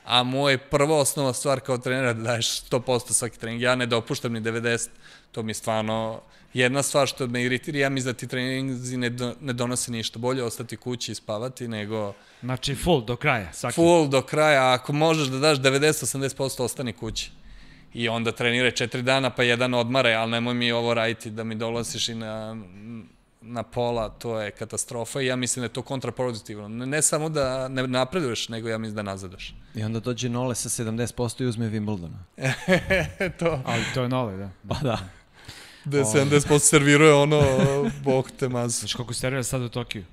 A moja prva osnova stvar kao trenera da daješ sto posto svaki trening. Ja ne dopuštam ni devedeset. To mi je stvarno jedna stvar što me iritira. Ja mislim da ti treninzi ne, do, ne donose ništa. Bolje ostati kući i spavati nego Znači full do kraja, svaki. full do kraja. Ako možeš da daš devedeset do osamdeset posto ostani kući. I onda treniraj četiri dana pa jedan odmaraj, ali nemoj mi ovo raditi da mi dolasiš i na, na pola, to je katastrofa i ja mislim da je to kontraproduktivno. Ne, ne samo da ne napreduješ, nego ja mislim da nazadaš. I onda dođe Nole sa sedamdeset posto i uzme Wimbledona. to. Ali to je nole, da. Pa da. Da sedamdeset posto serviruje ono, bog te mazu. Znaš koliko servira sad u Tokiju?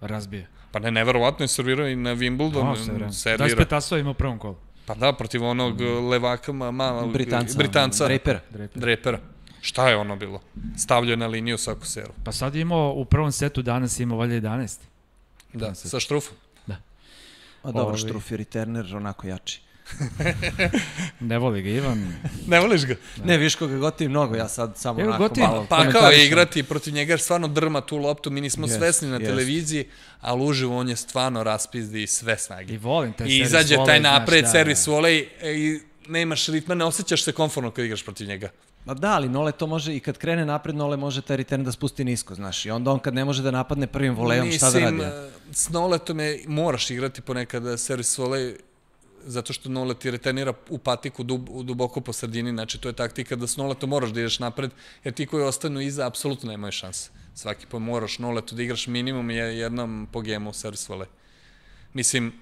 Razbije. Pa ne, neverovatno je servirao i na Wimbledon. Servira. Servira. dvadeset pet asova ima u prvom kolu. Pa da, protiv onog levaka, ma, ma, Britanca. Britanca. Drapera. Draper. Drapera. Šta je ono bilo? Stavljao je na liniju svaku seru. Pa sad je imao u prvom setu, danas je imao valjda jedanaest. Da, sa štrufom. A dobro, Ovi. Štruf i Returner onako jači. Ne voli ga Ivan. Ne voliš ga? Ne, viš koga gotivi mnogo, ja sad samo Evo, onako gotivim. malo Pa kao je komentarišem. igrati protiv njega, jer stvarno drma tu loptu, mi nismo Jest, svesni na jest. televiziji, ali uživo on je stvarno raspizdi sve I snage. volim taj I servis izađe volej, taj znaš, napred, da, servis da. volej i nemaš ritma, ne osjećaš se komfortno kad igraš protiv njega. Ma da, ali Nole to može, i kad krene napred, Nole može taj return da spusti nisko, znaš. I onda on kad ne može da napadne prvim volejom, šta da radi? Mislim, s Noletom je, moraš igrati ponekad servis volej, zato što Nolet je returnira u patiku dub, duboko po sredini, znači to je taktika da s Noletom moraš da ideš napred, jer ti koji ostanu iza apsolutno nemaju šanse. Svaki po moraš Noletu da igraš minimum je jednom po gemu servis volej. Mislim,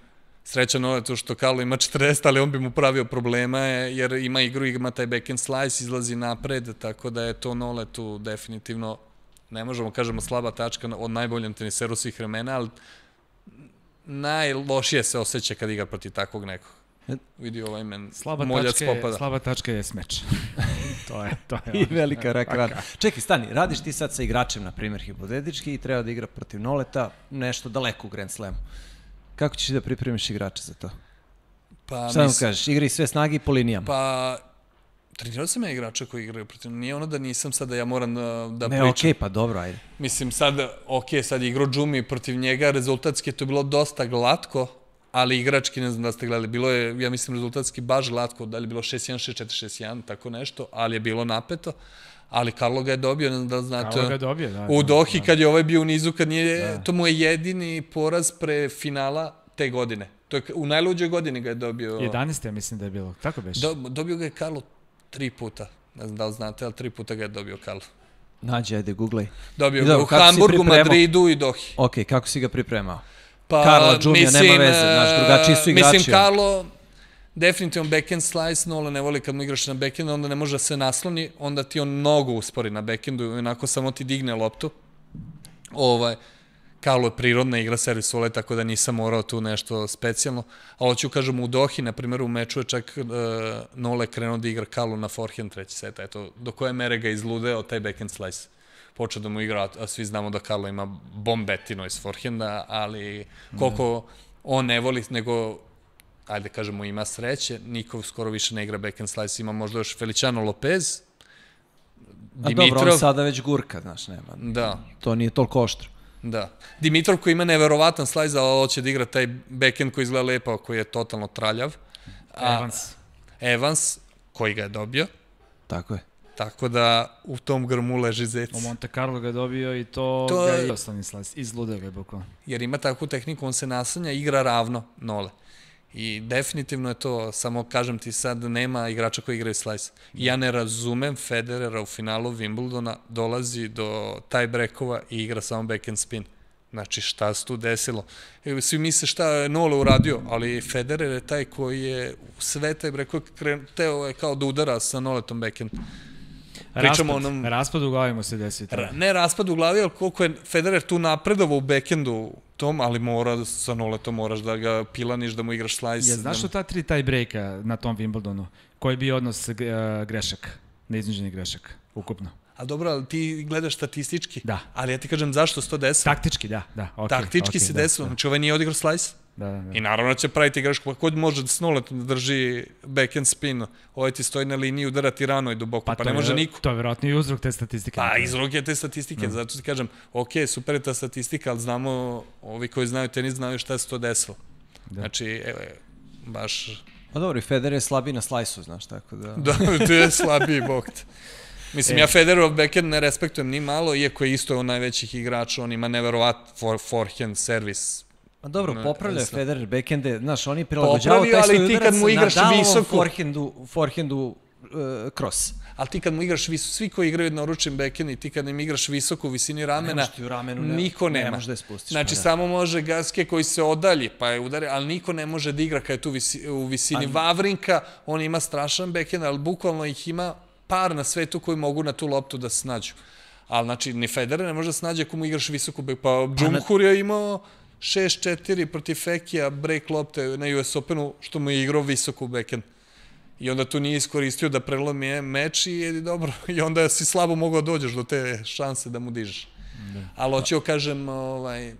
sreća Noletu što Karlo ima četrdeset, ali on bi mu pravio problema, jer ima igru, ima taj backhand slice, izlazi napred, tako da je to Noletu definitivno, ne možemo kažemo slaba tačka od najboljem teniseru svih vremena, ali najlošije se osjeća kad igra protiv takvog nekog. Vidi ovaj men Slaba moljac tačka, je, popada. slaba tačka je smeč. to je, to je. I velika rak rana. Čekaj, stani, radiš ti sad sa igračem, na primjer, hipotetički, i treba da igra protiv Noleta nešto daleko u Grand Slamu. Kako ćeš da pripremiš igrača za to? Pa, Šta mu mis- kažeš? Igri sve snage i po linijama. Pa, trenirao sam ja igrača koji igraju protiv. Nije ono da nisam sad da ja moram da, da ne, pričam. okej, pa dobro, ajde. Mislim, sad, ok, sad je igrao Džumi protiv njega, rezultatski je to bilo dosta glatko, ali igrački, ne znam da ste gledali, bilo je, ja mislim, rezultatski baš glatko, da li je bilo šest jedan, šest četiri, šest jedan, tako nešto, ali je bilo napeto, ali Karlo ga je dobio, ne znam da li znate, Karlo ga je dobio, da. u da, Dohi da. kad je ovaj bio u nizu, kad nije, Da. to mu je jedini poraz pre finala te godine. To je, u najluđoj godini ga je dobio. jedanaest ja mislim da je bilo, tako beš. Do, dobio ga je Karlo tri puta, ne znam da li znate, ali tri puta ga je dobio Karlo. Nađi, ajde, googlej. Dobio I ga dobro, u kako si Hamburgu, pripremao? Madridu i Dohi. Ok, kako si ga pripremao? Pa, Karlo, Džumija, nema veze, znaš, drugačiji su igrači. Mislim, Karlo, definitivno backhand slice, Nola ne voli kad mu igraš na backhandu, onda ne može da se nasloni, onda ti on mnogo uspori na backhandu i onako samo ti digne loptu. Ovaj, Karlo je prirodna igra servis vole, tako da nisam morao tu nešto specijalno. A hoću kažem u Dohi, na primjer u meču je čak uh, Nole krenuo da igra Karlo na forehand treći set, eto, do koje mere ga izludeo taj backhand slice. Počeo da mu igra, a svi znamo da Karlo ima bombetino iz forehanda, ali koliko on ne voli, nego, ajde kažemo, ima sreće, niko skoro više ne igra backhand slice, ima možda još Feliciano Lopez, Dimitrov... A dobro, on sada već gurka, znaš, nema. Da. To nije toliko oštro. Da. Dimitrov koji ima neverovatan slajz, ali hoće da igra taj backhand koji izgleda lepo, koji je totalno traljav. A, Evans. Evans, koji ga je dobio. Tako je. Tako da u tom grmu leži zec. U Monte Carlo ga je dobio i to, to... ga je osnovni slajz. Izlude ga je bukvalno. Jer ima takvu tehniku, on se naslanja, igra ravno nole. I definitivno je to, samo kažem ti sad, nema igrača koji igraju slice. I ja ne razumem Federera u finalu Wimbledona, dolazi do tie-breakova i igra samo backhand spin. Znači, šta se tu desilo? Svi misle šta je Nole uradio, ali Federer je taj koji je sve tie-breakove teo je kao da udara sa Noletom backhand. Raspad, onom... raspad u glavi mu se desi. Ra, ne raspad u glavi, ali koliko je Federer tu napredovao u backhandu tom, ali mora sa Noletom, moraš da ga pilaniš, da mu igraš slice. Je, znaš što ta tri tie breaka na tom Wimbledonu? Koji bi odnos uh, grešaka, neiznuđenih grešaka, ukupno? A dobro, ali ti gledaš statistički. Da. Ali ja ti kažem zašto se to desilo. Taktički, da. da okay, Taktički okay, se da, desilo. Da. Znači ovaj nije odigrao slice. Da, da, da. I naravno će praviti grešku. Pa kod može da s Noletom da drži backhand spin. Ovaj ti stoji na liniji, udara ti rano i duboko. Pa, pa ne može je, niko. To je verovatno i uzrok te statistike. Pa izrok je te statistike. Da. Zato ti kažem, ok, super je ta statistika, ali znamo, ovi koji znaju tenis znaju šta se to desilo. Da. Znači, evo, baš... Pa dobro, i Federer je slabiji na slajsu, znaš, tako da... Da, to je slabiji bokt. Mislim, e. ja Federerov backhand ne respektujem ni malo, iako je isto on najvećih igrača, on ima neverovat for, forehand, servis. A dobro, popravlja je Federer backhande, znaš, on je prilagođavao taj svoj udarac na Nadalovom forehandu, forehandu uh, cross. Ali ti kad mu igraš visoko, svi koji igraju naručen backhand i ti kad im igraš visoko u visini ramena, u ramenu, ne, niko nema. Ne može da je spustiš. Znači, da. samo može Gaske koji se odalji, pa je udari, ali niko ne može da igra kad je tu visi, u visini. A... Vavrinka, on ima strašan backhand, ali bukvalno ih ima par na svetu koji mogu na tu loptu da se nađu. Ali, znači, ni Federer ne može da se nađe ako mu igraš visoko backhand. Pa Džumhur je imao šest četiri protiv Fekija break lopte na U S Openu, što mu je igrao visoko backhand. I onda tu nije iskoristio da prelomi meč i je dobro. I onda si slabo mogao dođeš do te šanse da mu dižeš. Da. Ali hoćeo kažem, ovaj...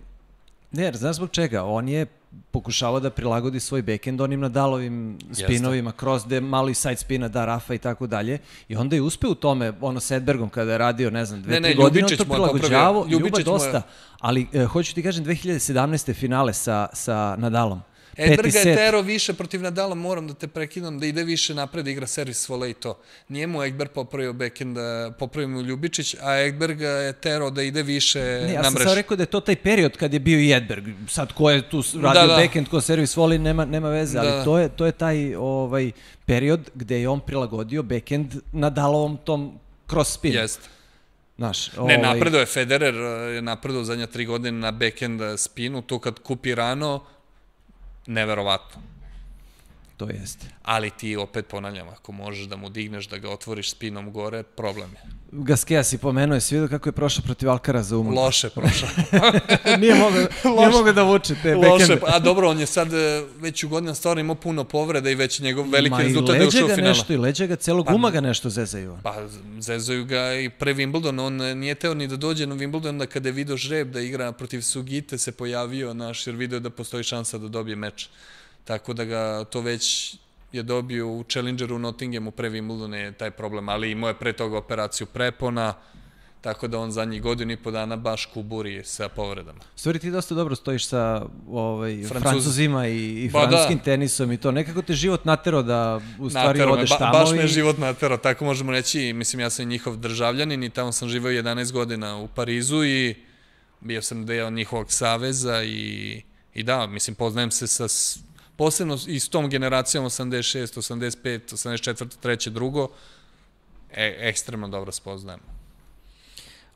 Ne, znaš zbog čega? On je pokušavao da prilagodi svoj backhand onim Nadalovim spinovima, cross, gde malo i side spina da Rafa i tako dalje. I onda je uspeo u tome, ono s Edbergom kada je radio, ne znam, dve, ne, tri ne, godine, on to prilagođavao, Ljuba dosta. Ali eh, hoću ti kažem, dve hiljade sedamnaeste finale sa, sa Nadalom. Edberga je tero više protiv Nadala, moram da te prekidam, da ide više napred, da igra servis vole i to. Nije mu Ekberg popravio backhand, popravio mu Ljubičić, a Ekberga je tero da ide više na mrež. Ne, ja sam sad rekao da je to taj period kad je bio i Edberg. Sad ko je tu radio da, da. backhand, ko servis voli, nema, nema veze, da. ali to je, to je taj ovaj, period gde je on prilagodio backhand Nadalovom tom cross spinu. Jeste. Naš, ovaj... Ne, napredo je Federer, je napredo zadnja tri godine na backhand spinu, to kad kupi rano, neverovatno. To jeste. Ali ti opet ponavljam, ako možeš da mu digneš, da ga otvoriš spinom gore, problem je. Gasquet si pomenuo, jesi vidio kako je prošao protiv Alcaraza u Monaku? Loše prošao. nije mogao nije mogo da vuče te Loše, a dobro, on je sad već u godinama stvarno imao puno povreda i već njegov veliki rezultat je ušao u finala. Nešto, I leđa ga, celo guma ga nešto zezaju. Pa zezaju ga i pre Wimbledon, on nije teo ni da dođe na Wimbledon, onda kada je video žreb da igra protiv Sugite se pojavio naš, jer video da postoji šansa da dobije meč. Tako da ga to već je dobio u Challengeru u Nottinghamu pre Wimbledona je taj problem, ali imao je pre toga operaciju prepona, tako da on zadnjih godinu i po dana baš kuburi sa povredama. Stvari, ti dosta dobro stojiš sa ovaj, Francuz... Francuzima i, i ba, francuskim da. tenisom i to. Nekako te život natero da u stvari natero odeš me, ba, tamo. Baš i... me život natero, tako možemo reći. Mislim, ja sam njihov državljanin i tamo sam živao jedanaest godina u Parizu i bio sam deo njihovog saveza i, i da, mislim, poznajem se sa... Posebno i s tom generacijom osamdeset šest, osamdeset pet, osamdeset četiri, treće, drugo, e, ekstremno dobro spoznajem.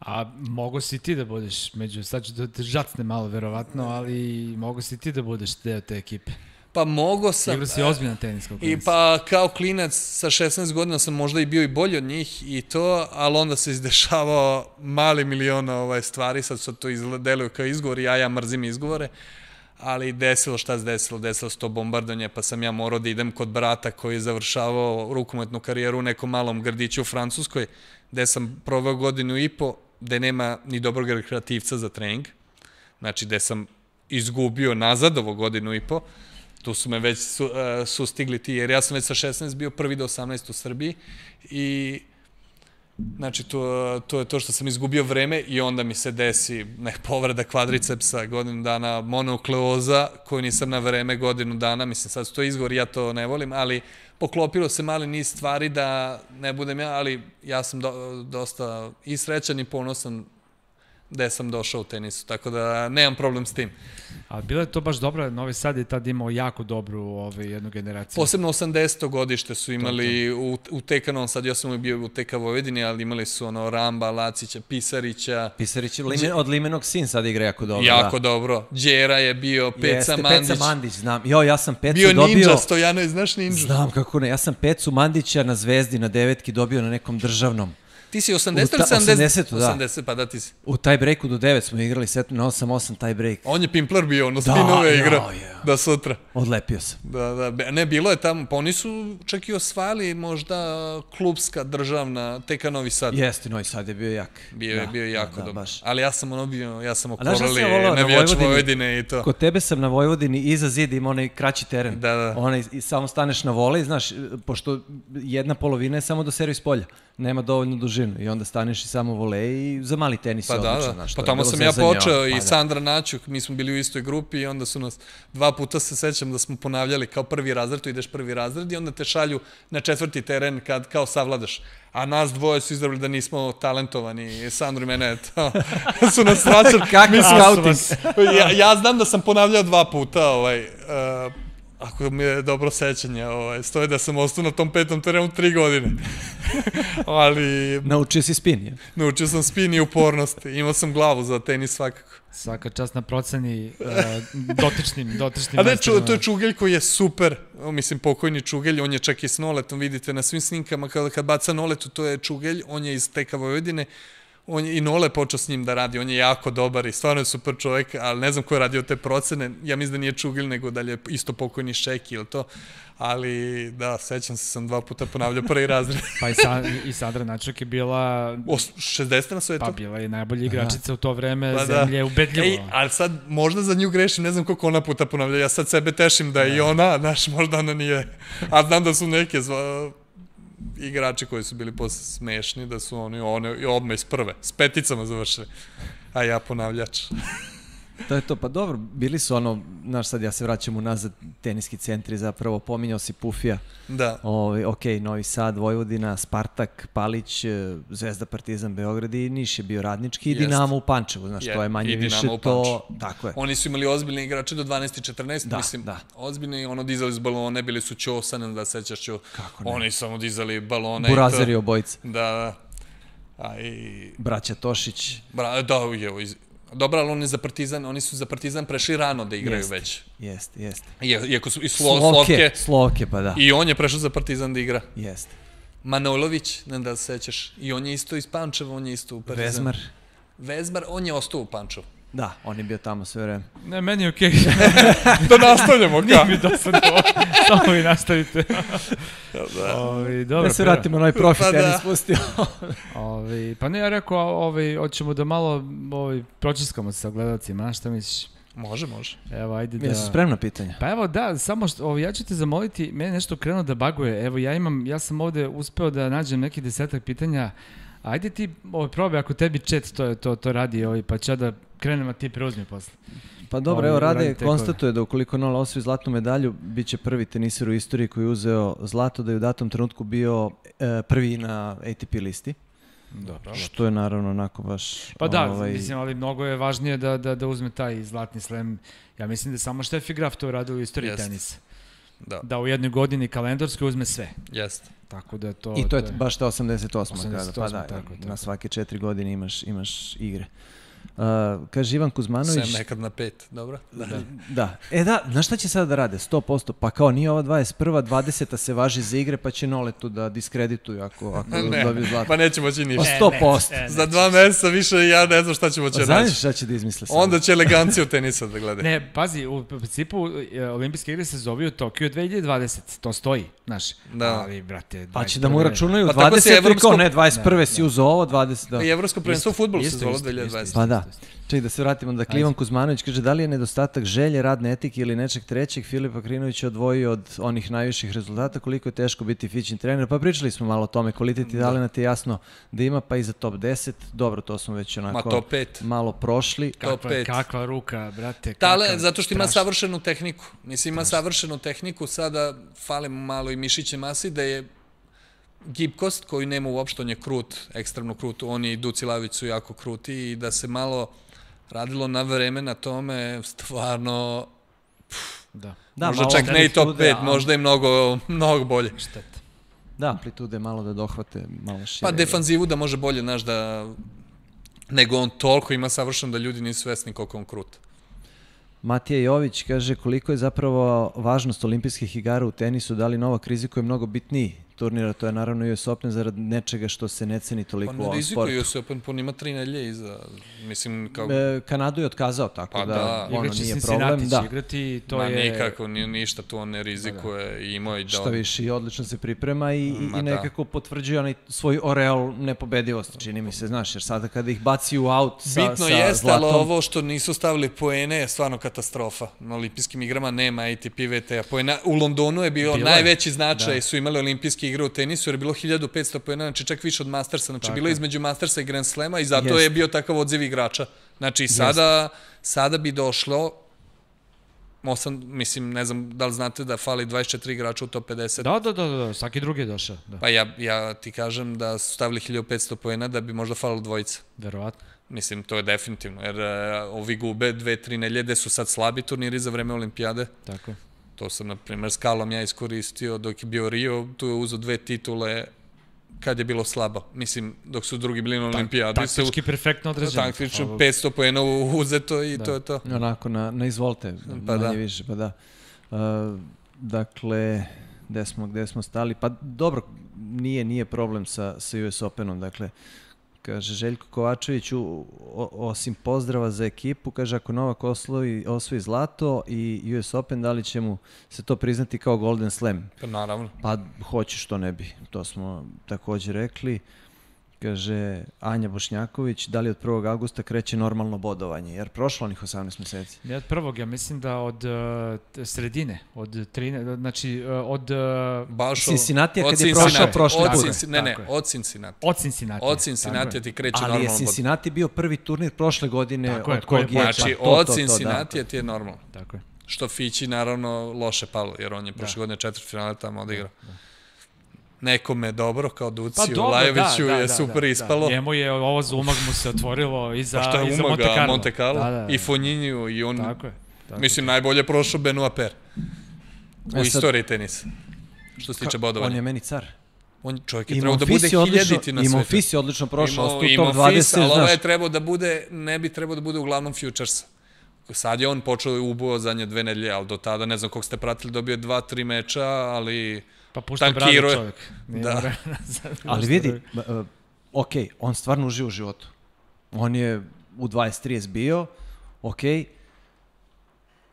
A mogo si ti da budeš među, sad ću da te žacne malo verovatno, ali mogo si ti da budeš deo te ekipe? Pa mogo sam... Igrao si ozbiljan tenis kao klinac. I pa kao klinac sa šesnaest godina sam možda i bio i bolji od njih i to, ali onda se izdešavao mali miliona ovaj, stvari, sad su to izdeluju kao izgovor, ja ja mrzim izgovore, ali desilo šta se desilo, desilo se to bombardanje, pa sam ja morao da idem kod brata koji je završavao rukometnu karijeru u nekom malom gradiću u Francuskoj, gde sam proveo godinu i po, gde nema ni dobrog rekreativca za trening, znači gde sam izgubio nazad ovo godinu i po, tu su me već su, uh, sustigli ti, jer ja sam već sa šesnaest bio prvi do osamnaest u Srbiji i Znači, to, to je to što sam izgubio vreme i onda mi se desi nek povreda kvadricepsa, godinu dana monokleoza, koju nisam na vreme godinu dana, mislim, sad su to izgovor, ja to ne volim, ali poklopilo se mali niz stvari da ne budem ja, ali ja sam do, dosta i srećan i ponosan gde sam došao u tenisu, tako da nemam problem s tim. A bilo je to baš dobro, Novi Sad je tad imao jako dobru ovaj, jednu generaciju. Posebno osamdeseto godište su imali u, u T K Novom Sadu, ja sam bio u T K Vojvodini, ali imali su ono Ramba, Lacića, Pisarića. Pisarić Limen, od Limenog sin sad igra jako dobro. Jako da. dobro. Đera je bio, Peca Jeste, Mandić. Peca Mandić, znam. Jo, ja sam Pecu bio dobio... Bio Ninja, Stojanović, znaš Ninja? Znam kako ne, ja sam Pecu Mandića na Zvezdi, na devetki dobio na nekom državnom. Ti si osamdeset ili sedamdeset? osamdeset, da. osamdeset, pa da ti si. U taj breaku do devet smo igrali set na osam osam taj break. On je Pimpler bio, ono spinove igra. Da, ja. Da, sutra. Odlepio sam. Da, da, ne, bilo je tamo, pa oni su čak i osvajali možda klubska, državna, T K Novi Sad. Jeste, Novi Sad je bio jak. Bio je, da, bio je jako da, da, dobro. Baš. Ali ja sam ono bio, ja sam okorali okorali navijač Vojvodine i to. Kod tebe sam na Vojvodini iza zida ima onaj kraći teren. Da, da. Onaj, i samo staneš na volej, znaš, pošto jedna polovina je samo do servis polja. Nema dovoljnu dužinu i onda staneš i samo volej i za mali tenis pa je da, odlično. Da. Znaš, pa tamo sam ja počeo i pa Sandra Naćuk, mi smo bili u istoj grupi i onda su nas, dva puta se sećam da smo ponavljali kao prvi razred, tu ideš prvi razred i onda te šalju na četvrti teren kad kao savladaš. A nas dvoje su izdravili da nismo talentovani, Sandro i mene, to, su nas vraćali. Kakav scouting? ja, ja znam da sam ponavljao dva puta, ovaj, uh, ako mi je dobro sećanje, ovaj, stoji da sam ostao na tom petom terenu tri godine. Ali... Naučio si spin, je? Naučio sam spin i upornost. Imao sam glavu za tenis svakako. Svaka čast na proceni uh, dotičnim, dotičnim. A ne, ču, to je Čugelj koji je super, mislim pokojni Čugelj, on je čak i s Noletom, vidite na svim sninkama, kada kad baca Noletu, to je Čugelj, on je iz T K Vojvodine, on je, i Nole počeo s njim da radi, on je jako dobar i stvarno je super čovjek, ali ne znam ko je radio te procene, ja mislim da nije Čugelj, nego da li je isto pokojni Šeki ili to, ali da, sećam se, sam dva puta ponavljao prvi razred. Pa i, sa, i Sandra Načak je bila... O, šezdeset na svetu? Pa bila je najbolja igračica u to vreme, pa zemlje, da. ubedljivo. Ej, ali sad možda za nju grešim, ne znam koliko ona puta ponavlja, ja sad sebe tešim da je i ona, znaš, možda ona nije, a znam da su neke zva... igrači koji su bili posle smešni, da su oni one, odmah iz prve, s peticama završili, a ja ponavljač. To je to, pa dobro, bili su ono, znaš sad ja se vraćam unazad, teniski centri zapravo, pominjao si Pufija, da. Ovi, ok, Novi Sad, Vojvodina, Spartak, Palić, Zvezda, Partizan, Beograd i Niš je bio radnički i Jest. Dinamo u Pančevu, znaš, je, to je manje više to, tako je. Oni su imali ozbiljne igrače do dvanaest i četrnaest, da, mislim, da. ozbiljni, ono dizali s balone, bili su Ćosan, da sećaš Ćo, oni samo dizali balone. Burazeri obojica. Da, da. A i... Braća Tošić. Bra, da, evo, iz... Dobro, ali oni za Partizan, oni su za Partizan prešli rano da igraju jest, već. Jeste, jeste. Iako su i Slo, Slovke, Slovke. Slovke, pa da. I on je prešao za Partizan da igra. Jeste. Manojlović, ne da se sećaš, i on je isto iz Pančeva, on je isto u Partizan. Vezmar. Vezmar, on je ostao u Pančevu. Da, on je bio tamo sve vreme. Ne, meni je okej. Da nastavljamo, Nije mi dosadno, samo vi nastavite. da. Ovi, dobro, da se vratimo na ovaj profi pa tenis da. pustio. Ovi, pa ne, ja rekao, ovi, hoćemo da malo ovi, pročiskamo sa gledalcima, znaš šta misliš? Može, može. Evo, ajde da... Jesu spremna pitanja? Pa evo, da, samo što, ovi, ja ću te zamoliti, mene nešto krenuo da baguje, evo, ja imam, ja sam ovde uspeo da nađem neki desetak pitanja, ajde ti, ovi, probaj, ako tebi chat to, to, to radi, ovi, pa ću ja da krenem, a ti preuzmi posle. Pa dobro, Ovi, evo Rade uradite konstatuje da ukoliko Nola osvoji zlatnu medalju, bit će prvi teniser u istoriji koji je uzeo zlato, da je u datom trenutku bio e, prvi na A T P listi. Dobro. Što je naravno onako baš... Pa da, ovaj... mislim, ali mnogo je važnije da, da, da uzme taj zlatni slem. Ja mislim da samo Steffi Graf to radio u istoriji Jest. tenisa. Da. Da u jednoj godini kalendarskoj uzme sve. Jeste. Tako da to... I to je to baš ta osamdeset osma osamdeset osma, kada, pa da, tako je, tako. na svake četiri godine imaš, imaš igre. Uh, kaže Ivan Kuzmanović... Sem nekad na pet, dobro? Da. da. E da, znaš šta će sada da rade? sto posto. Pa kao nije ova dvadeset prva, dvadeseta se važi za igre, pa će Noletu da diskredituju ako, ako ne, dobiju zlato. pa nećemo će ništa. Pa sto posto. Ne, ne, Za dva meseca više ja ne znam šta ćemo će Znaš naći. šta će da izmisle sada? Onda će eleganciju tenisa da gleda. Ne, pazi, u principu e, olimpijske igre se zove u Tokiju dve hiljade dvadeset, to stoji, znaš. Da. Ali, brate, Pa će da mu računaju Pa tako se dvadeset, evropsko- kao ne, dvadeset prve si uzeo ovo, dvadeset, da. I evropsko prvenstvo u fudbalu se isto, zvalo isto, dve hiljade dvadeset. Pa da. Čekaj da se vratimo. Dakle, Ivan Kuzmanović kaže da li je nedostatak želje, radne etike ili nečeg trećeg Filipa Krinovića odvojio od onih najviših rezultata, koliko je teško biti fićin trener. Pa pričali smo malo o tome, kvalitet i talenat je jasno da ima, pa i za top deset. Dobro, to smo već onako malo prošli. Kakva, kakva ruka, brate. Tale, zato što ima savršenu tehniku. Mislim, ima savršenu tehniku, sada fali mu malo i mišiće masi, da je gibkost koju nema uopšte, on je krut, ekstremno krut, on i Duci Lavić su jako kruti i da se malo radilo na vreme na tome, stvarno, da. možda čak ne i top pet, možda i mnogo, mnogo bolje. Šteta. Da, amplitude malo da dohvate, malo šire. Pa defanzivu da može bolje, znaš, da nego on toliko ima savršeno da ljudi nisu svesni koliko on krut. Matija Jović kaže koliko je zapravo važnost olimpijskih igara u tenisu, da li Novak rizikuje mnogo bitniji turnira, to je naravno U S Open zarad nečega što se ne ceni toliko u ovom sportu. Pa ne rizikuje U S Open, pa ima tri nelje iza, mislim kao... E, Kanadu je otkazao, tako da ono nije problem. Da, igrati, to je... Ma nikako, ništa tu on ne rizikuje i imao i da... Što više, i odlično se priprema i, i nekako potvrđuje onaj svoj oreal nepobedivosti, čini mi se, znaš, jer sada kada ih baci u aut sa zlatom... Bitno jeste, ali ovo što nisu stavili poene je stvarno katastrofa. Na olimpijskim igrama nema A T P V T-a. U Londonu je bio najveći značaj, su imali olimpijske igre u tenisu, jer je bilo hiljadu petsto poena, znači čak više od Mastersa, znači bilo je između Mastersa i Grand Slema i zato je bio takav odziv igrača. Znači sada, sada bi došlo, osam, mislim, ne znam da li znate da fali dvadeset četiri igrača u top pedeset. Da, da, da, da, svaki drugi je došao. Pa ja, ja ti kažem da su stavili hiljadu petsto poena da bi možda falilo dvojica. Verovatno. Mislim, to je definitivno, jer ovi gube dve, tri neljede su sad slabi turniri za vreme olimpijade. Tako je. To sam, na primjer, s Kalom ja iskoristio dok je bio Rio, tu je uzeo dve titule kad je bilo slabo. Mislim, dok su drugi bili na olimpijadi. Taktički perfektno određeno. Taktično, petsto poena uzeto i to je to. Onako, na izvolte, manje više, pa da. Dakle, gde smo stali? Pa dobro, nije problem sa U S Openom, dakle, kaže Željko Kovačević, osim pozdrava za ekipu, kaže ako Novak osvoji zlato i U S Open, da li će mu se to priznati kao Golden Slam? Pa naravno. Pa hoće što ne bi, to smo također rekli. Kaže Anja Bošnjaković, da li od prvog avgusta kreće normalno bodovanje, jer prošlo onih osamnaest meseci? Ne od prvog, ja mislim da od sredine, od trinaeste, znači od... Cincinnati kad je prošao prošle put. Ne, ne, od Cincinnati. Od Cincinnati. Od Cincinnati ti kreće normalno bodovanje. Ali je Cincinnati bio prvi turnir prošle godine od kog je... Znači, od Cincinnati ti je normalno. Tako je. Što Fići naravno loše palo, jer on je prošle godine četiri finale tamo odigrao. Nekome dobro, kao Duciju, Lajoviću je super ispalo. Njemu je ovo za umag mu se otvorilo i za Monte Carlo. Pa šta je Monte Carlo? I Fognini i on... Tako je. Mislim, najbolje prošao Benoit Paire u istoriji tenisa. Što se tiče bodovanja. On je meni car. On čovjek je trebao da bude hiljaditi na svetu. I Monfils je odlično prošao. I Monfils, ali ovo je trebao da bude, ne bi trebao da bude uglavnom Futuresa. Sad je on počeo i ubuo zadnje dve nedelje, ali do tada, ne znam kog ste pratili, dobio dva, tri meča, ali... Pa pušta bradu čovjek. Da. Ali vidi, ok, on stvarno uživa u životu. On je u dvadeset trideset bio, ok,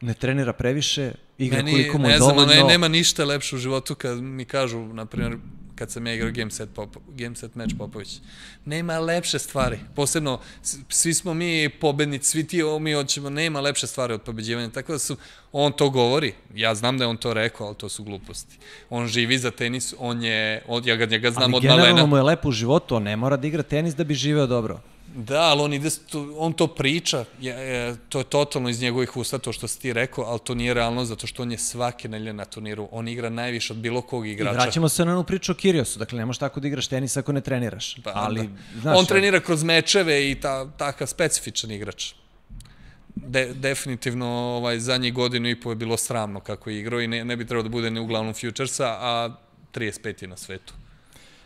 ne trenira previše, igra koliko mu je dovoljno. Ne znam, nema ništa lepše u životu kad mi kažu, na primjer, kad sam ja igrao game set, game set match Popović. Nema lepše stvari. Posebno, svi smo mi pobednici, svi ti mi hoćemo, nema lepše stvari od pobeđivanja. Tako da su, on to govori. Ja znam da je on to rekao, ali to su gluposti. On živi za tenis, on je, ja ga njega znam od malena. Ali generalno mu je lepo u životu, on ne mora da igra tenis da bi živeo dobro. Da, ali on, ide, on to priča, je, to je totalno iz njegovih usta, to što si ti rekao, ali to nije realno, zato što on je svake nelje na turniru, on igra najviše od bilo kog igrača. I vraćamo se na onu priču o Kyriosu, dakle ne možeš tako da igraš tenis ako ne treniraš. Pa, ali, znaš, on trenira kroz mečeve i ta, takav specifičan igrač. De, definitivno ovaj, zadnjih godinu i po je bilo sramno kako je igrao i ne, ne bi trebao da bude ne uglavnom Futuresa, a trideset pet je na svetu.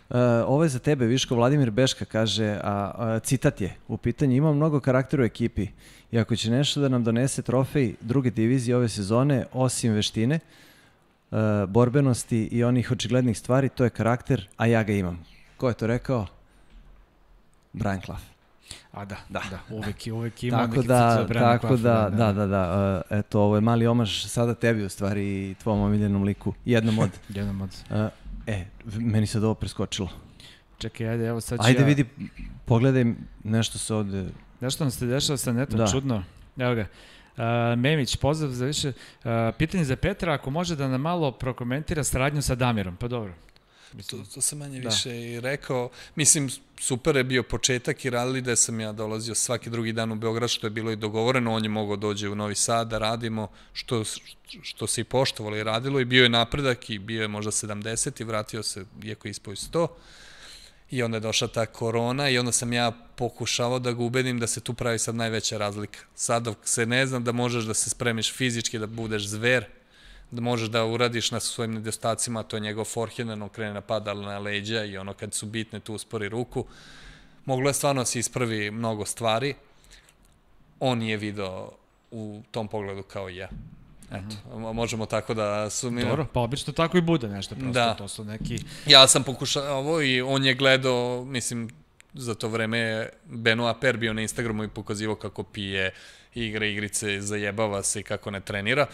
Uh, ovo je za tebe, Viško. Vladimir Beška kaže, a, a citat je u pitanju, ima mnogo karaktera u ekipi i ako će nešto da nam donese trofej druge divizije ove sezone, osim veštine, uh, borbenosti i onih očiglednih stvari, to je karakter, a ja ga imam. Ko je to rekao? Brian Clough. A da, da, da, uvek, uvek ima neki da, citat za Brian Clough. Da, da, da, da, uh, eto, ovo je mali omaž sada tebi u stvari i tvom omiljenom liku, jednom od... jednom od... Uh, E, meni se ovo preskočilo. Čekaj, ajde, evo sad ću Ajde, ja... vidi, pogledaj, nešto se ovde Nešto nam se dešava sa netom, čudno. Evo ga. Uh, Memić, pozdrav za više. Uh, pitanje za Petra, ako može da nam malo prokomentira saradnju sa Damirom. Pa dobro. To, to sam manje da. više i rekao. Mislim, super je bio početak i radili da sam ja dolazio svaki drugi dan u Beograd, što je bilo i dogovoreno. On je mogao dođe u Novi Sad da radimo, što, što se i poštovalo i radilo. I bio je napredak i bio je možda sedamdeset i vratio se, iako je ispoj sto. I onda je došla ta korona i onda sam ja pokušavao da ga ubedim da se tu pravi sad najveća razlika. Sad dok se ne znam da možeš da se spremiš fizički, da budeš zver, da možeš da uradiš na svojim nedostacima, to je njegov forehand, ono krene napada na leđa i ono kad su bitne tu uspori ruku. Moglo je stvarno se ispravi mnogo stvari. On je video u tom pogledu kao i ja. Eto, možemo tako da su mi... Dobro, pa obično tako i bude nešto, prosto da. To su neki... Ja sam pokušao ovo i on je gledao, mislim, za to vreme Benoit Per bio na Instagramu i pokazivao kako pije, igra igrice, zajebava se i kako ne trenira.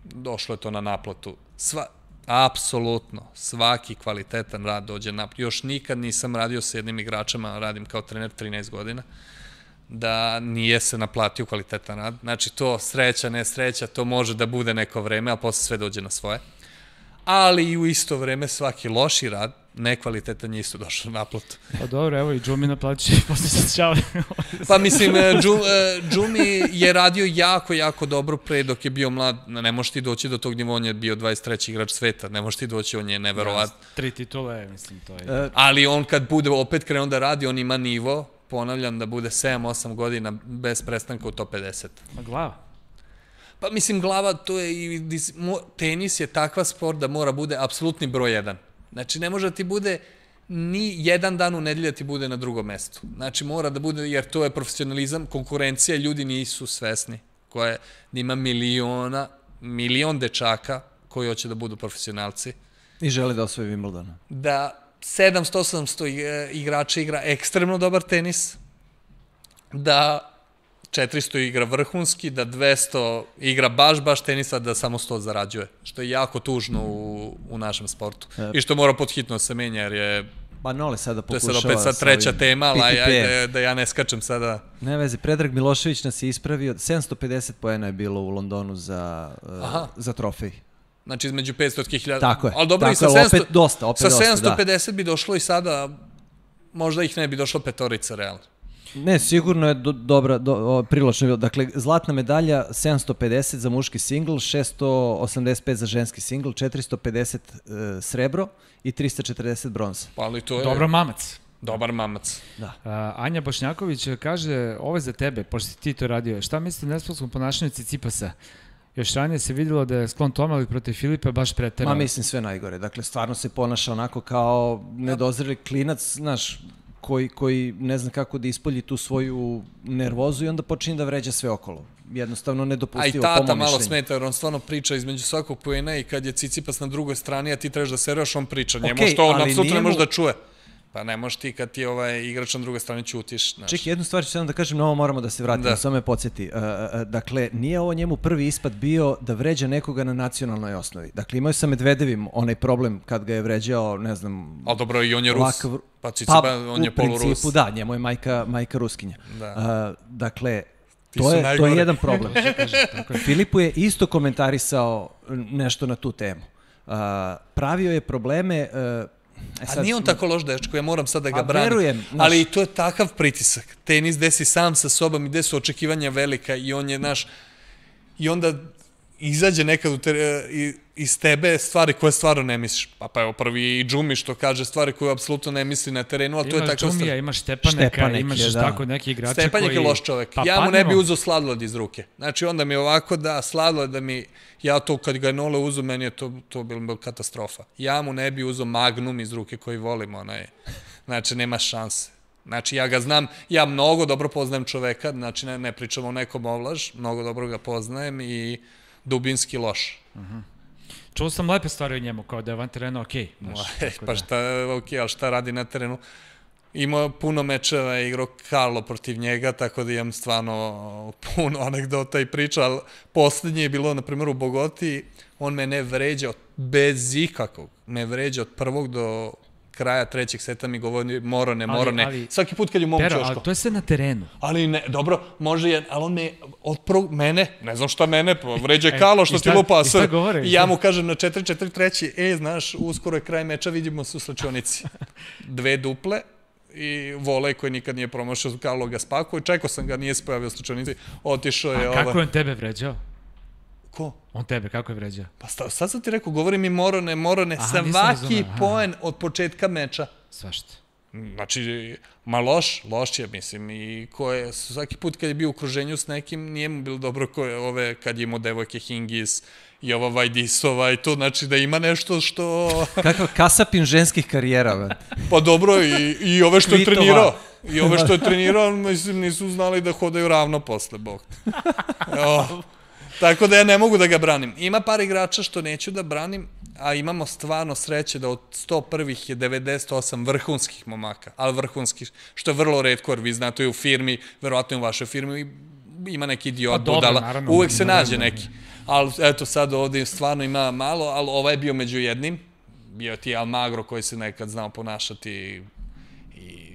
Došlo je to na naplatu. Sva, apsolutno, svaki kvalitetan rad dođe na... Još nikad nisam radio sa jednim igračama, radim kao trener trinaest godina, da nije se naplatio kvalitetan rad. Znači, to sreća, ne sreća, to može da bude neko vreme, a posle sve dođe na svoje. Ali i u isto vreme svaki loši rad, nekvalitetan je isto došao na naplatu. Pa dobro, evo i Džumi naplaći i posle se čao. Pa mislim, Džumi je radio jako, jako dobro pre dok je bio mlad. Ne možeš ti doći do tog nivoa, on je bio dvadeset treći igrač sveta, ne možeš ti doći, on je neverovat. Tri titule, mislim, to je... Ali on kad bude opet krenuo da radi, on ima nivo, ponavljam, da bude sedam osam godina bez prestanka u top pedeset. A glava? Pa mislim, glava, to je i... Tenis je takva sport da mora bude apsolutni broj jedan. Znači, ne može da ti bude ni jedan dan u nedelju da ti bude na drugom mestu. Znači, mora da bude, jer to je profesionalizam, konkurencija, ljudi nisu svesni. Koje, da ima miliona, milion dečaka koji hoće da budu profesionalci. I žele da osvoje Wimbledon. Da sedamsto osamsto igrača igra ekstremno dobar tenis, da četiristo igra vrhunski, da dvesta igra baš, baš tenisa, da samo sto zarađuje. Što je jako tužno u, u našem sportu. E, I što mora podhitno se menja, jer je... Pa Nole sada pokušava... To je sad opet sad treća tema, ali ajde da ja ne skačem sada... Ne vezi, Predrag Milošević nas je ispravio. sedamsto pedeset poena je bilo u Londonu za, za trofej. Znači između petsto hiljada... Tako je. Ali dobro, tako i sa, sedamsto, opet dosta, opet sa dosta, sedamsto pedeset da. Bi došlo i sada, možda ih ne bi došlo petorica, realno. Ne, sigurno je do, dobra, do, privlačno bilo. Dakle, zlatna medalja sedamsto pedeset za muški singl, šesto osamdeset pet za ženski singl, četiristo pedeset e, srebro i trista četrdeset bronza. Pa ali to je... Dobro mamac. Dobar mamac. Da. A, Anja Bošnjaković kaže, ovo je za tebe, pošto ti to radio, šta mislite o nesportskom ponašanju Cicipasa? Još ranije se vidjelo da je sklon tome, ali protiv Filipa baš preterao. Ma mislim sve najgore. Dakle, stvarno se ponaša onako kao nedozreli klinac, znaš, koji, koji ne zna kako da ispolji tu svoju nervozu i onda počinje da vređa sve okolo. Jednostavno nedopustivo, po mom mišljenju. A i tata malo smeta, jer on stvarno priča između svakog poena i kad je Cicipas na drugoj strani, a ti trebaš da seriraš, on priča. Njemu okay, što on apsolutno ne može da čuje. Pa ne možeš ti kad ti ovaj igrač na drugoj strani ćutiš. Čekaj, jednu stvar ću samo da kažem, na ovo moramo da se vratimo, da. Samo me podsjeti. Uh, uh, dakle, nije ovo njemu prvi ispad bio da vređa nekoga na nacionalnoj osnovi. Dakle, imao je sa Medvedevim onaj problem kad ga je vređao, ne znam... Ali dobro, i on je Rus, lakav... pa Cicipa, pa, on je polurus. Pa, u principu, da, njemu je majka, majka Ruskinja. Da. Uh, dakle, to je, to je jedan problem. Filipu je isto komentarisao nešto na tu temu. Uh, pravio je probleme... Uh, E sad, a nije on tako loš dečko, ja moram sad da ga branim. Verujem, naš... Ali to je takav pritisak. Tenis gde si sam sa sobom i gde su očekivanja velika i on je naš... I onda izađe nekad u te, iz tebe stvari koje stvarno ne misliš. Pa pa evo prvi i Džumi što kaže stvari koje apsolutno ne misli na terenu, ali to je tako... Imaš Džumija, imaš Štepaneka, Štepanek imaš je, da. Tako neki igrače koji... Stepanek je loš čovek. Pa, ja mu ne bi uzeo sladoled iz ruke. Znači onda mi ovako da sladoled da mi... Ja to kad ga je Nole uzu, meni je to, to bilo katastrofa. Ja mu ne bi uzeo Magnum iz ruke koji volim, onaj. Znači nema šanse. Znači ja ga znam, ja mnogo dobro poznajem čoveka, znači ne, ne pričam o nekom ovlaž, mnogo dobro ga poznajem i dubinski loš. Uh-huh. Čuo sam lepe stvari o njemu, kao da je van terena okej. Okay, pa šta je okej, ali šta radi na terenu? Imao puno mečeva, igrao Karlo protiv njega, tako da imam stvarno puno anegdota i priča, ali posljednje je bilo, na primjer, u Bogoti, on me ne vređao bez ikakvog, me vređao od prvog do kraja trećeg seta mi govori Morone, Morone. Svaki put kad je u mom ćošku. Ali to je sve na terenu. Ali ne, dobro, može je, ali on me, od prvog, mene, ne znam šta mene, vređe Kalo što ti lupa. I šta govore? I ja mu kažem na četiri četiri treći, e, znaš, uskoro je kraj meča, vidimo se u slačionici. Dve duple i volej koji nikad nije promašao, Kalo ga spakao i čekao sam ga, nije se pojavio u slačionici, otišao je... A kako je on tebe vređao? Ko? On tebe, kako je vređao? Pa sad sam ti rekao, govori mi Morone, Morone, svaki poen od početka meča. Svašta. Znači, ma loš, loš je, mislim, i ko je, svaki put kad je bio u okruženju s nekim, nije mu bilo dobro ko je ove, kad je imao devojke Hingis i ova Vajdisova i to, znači da ima nešto što... Kakav kasapin ženskih karijera, Pa dobro, i, i ove što je trenirao. I ove što je trenirao, mislim, nisu znali da hodaju ravno posle, bog. Evo. Tako da ja ne mogu da ga branim. Ima par igrača što neću da branim, a imamo stvarno sreće da od sto prvih je devedeset osam vrhunskih momaka, ali vrhunskih, što je vrlo retko, jer vi znate i u firmi, verovatno i u vašoj firmi, ima neki idiot budala, uvek se nađe neki. Ali eto sad ovdje stvarno ima malo, ali ovaj je bio među jednim, bio ti Almagro koji se nekad znao ponašati i...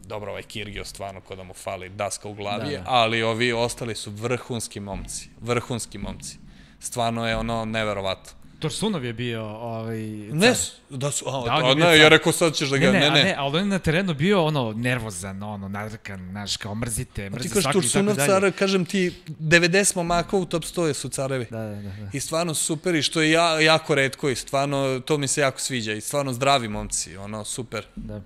Dobro, ovaj Kirgio stvarno ko da mu fali daska u glavi, ali ovi ostali su vrhunski momci, vrhunski momci. Stvarno je ono neverovatno. Torsunov je bio ovaj... Ne, da su, a ne, ja rekao sad ćeš da ga, ne, ne. Ne, ali on je na terenu bio ono nervozan, ono, nadrkan, znaš, kao mrzite, mrzi svaki i tako dalje. Ti kažeš Torsunov car, kažem ti, devedeset momaka u top sto su carevi. Da, da, da. I stvarno super i što je jako retko i stvarno, to mi se jako sviđa i stvarno zdravi momci, ono, super. Da.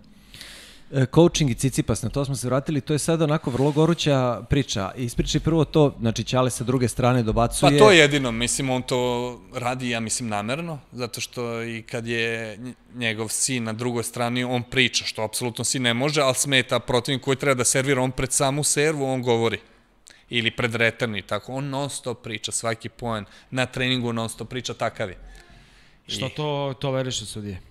Coaching i Cicipas, na to smo se vratili, to je sad onako vrlo goruća priča. Ispričaj prvo to, znači Ćale sa druge strane dobacuje... Pa to je jedino, mislim, on to radi, ja mislim, namerno, zato što i kad je njegov sin na drugoj strani, on priča, što apsolutno si ne može, ali smeta protivnik koji treba da servira, on pred samu servu, on govori. Ili pred return i tako, on non stop priča, svaki poen, na treningu non stop priča, takav je. Što to toleriše sudije?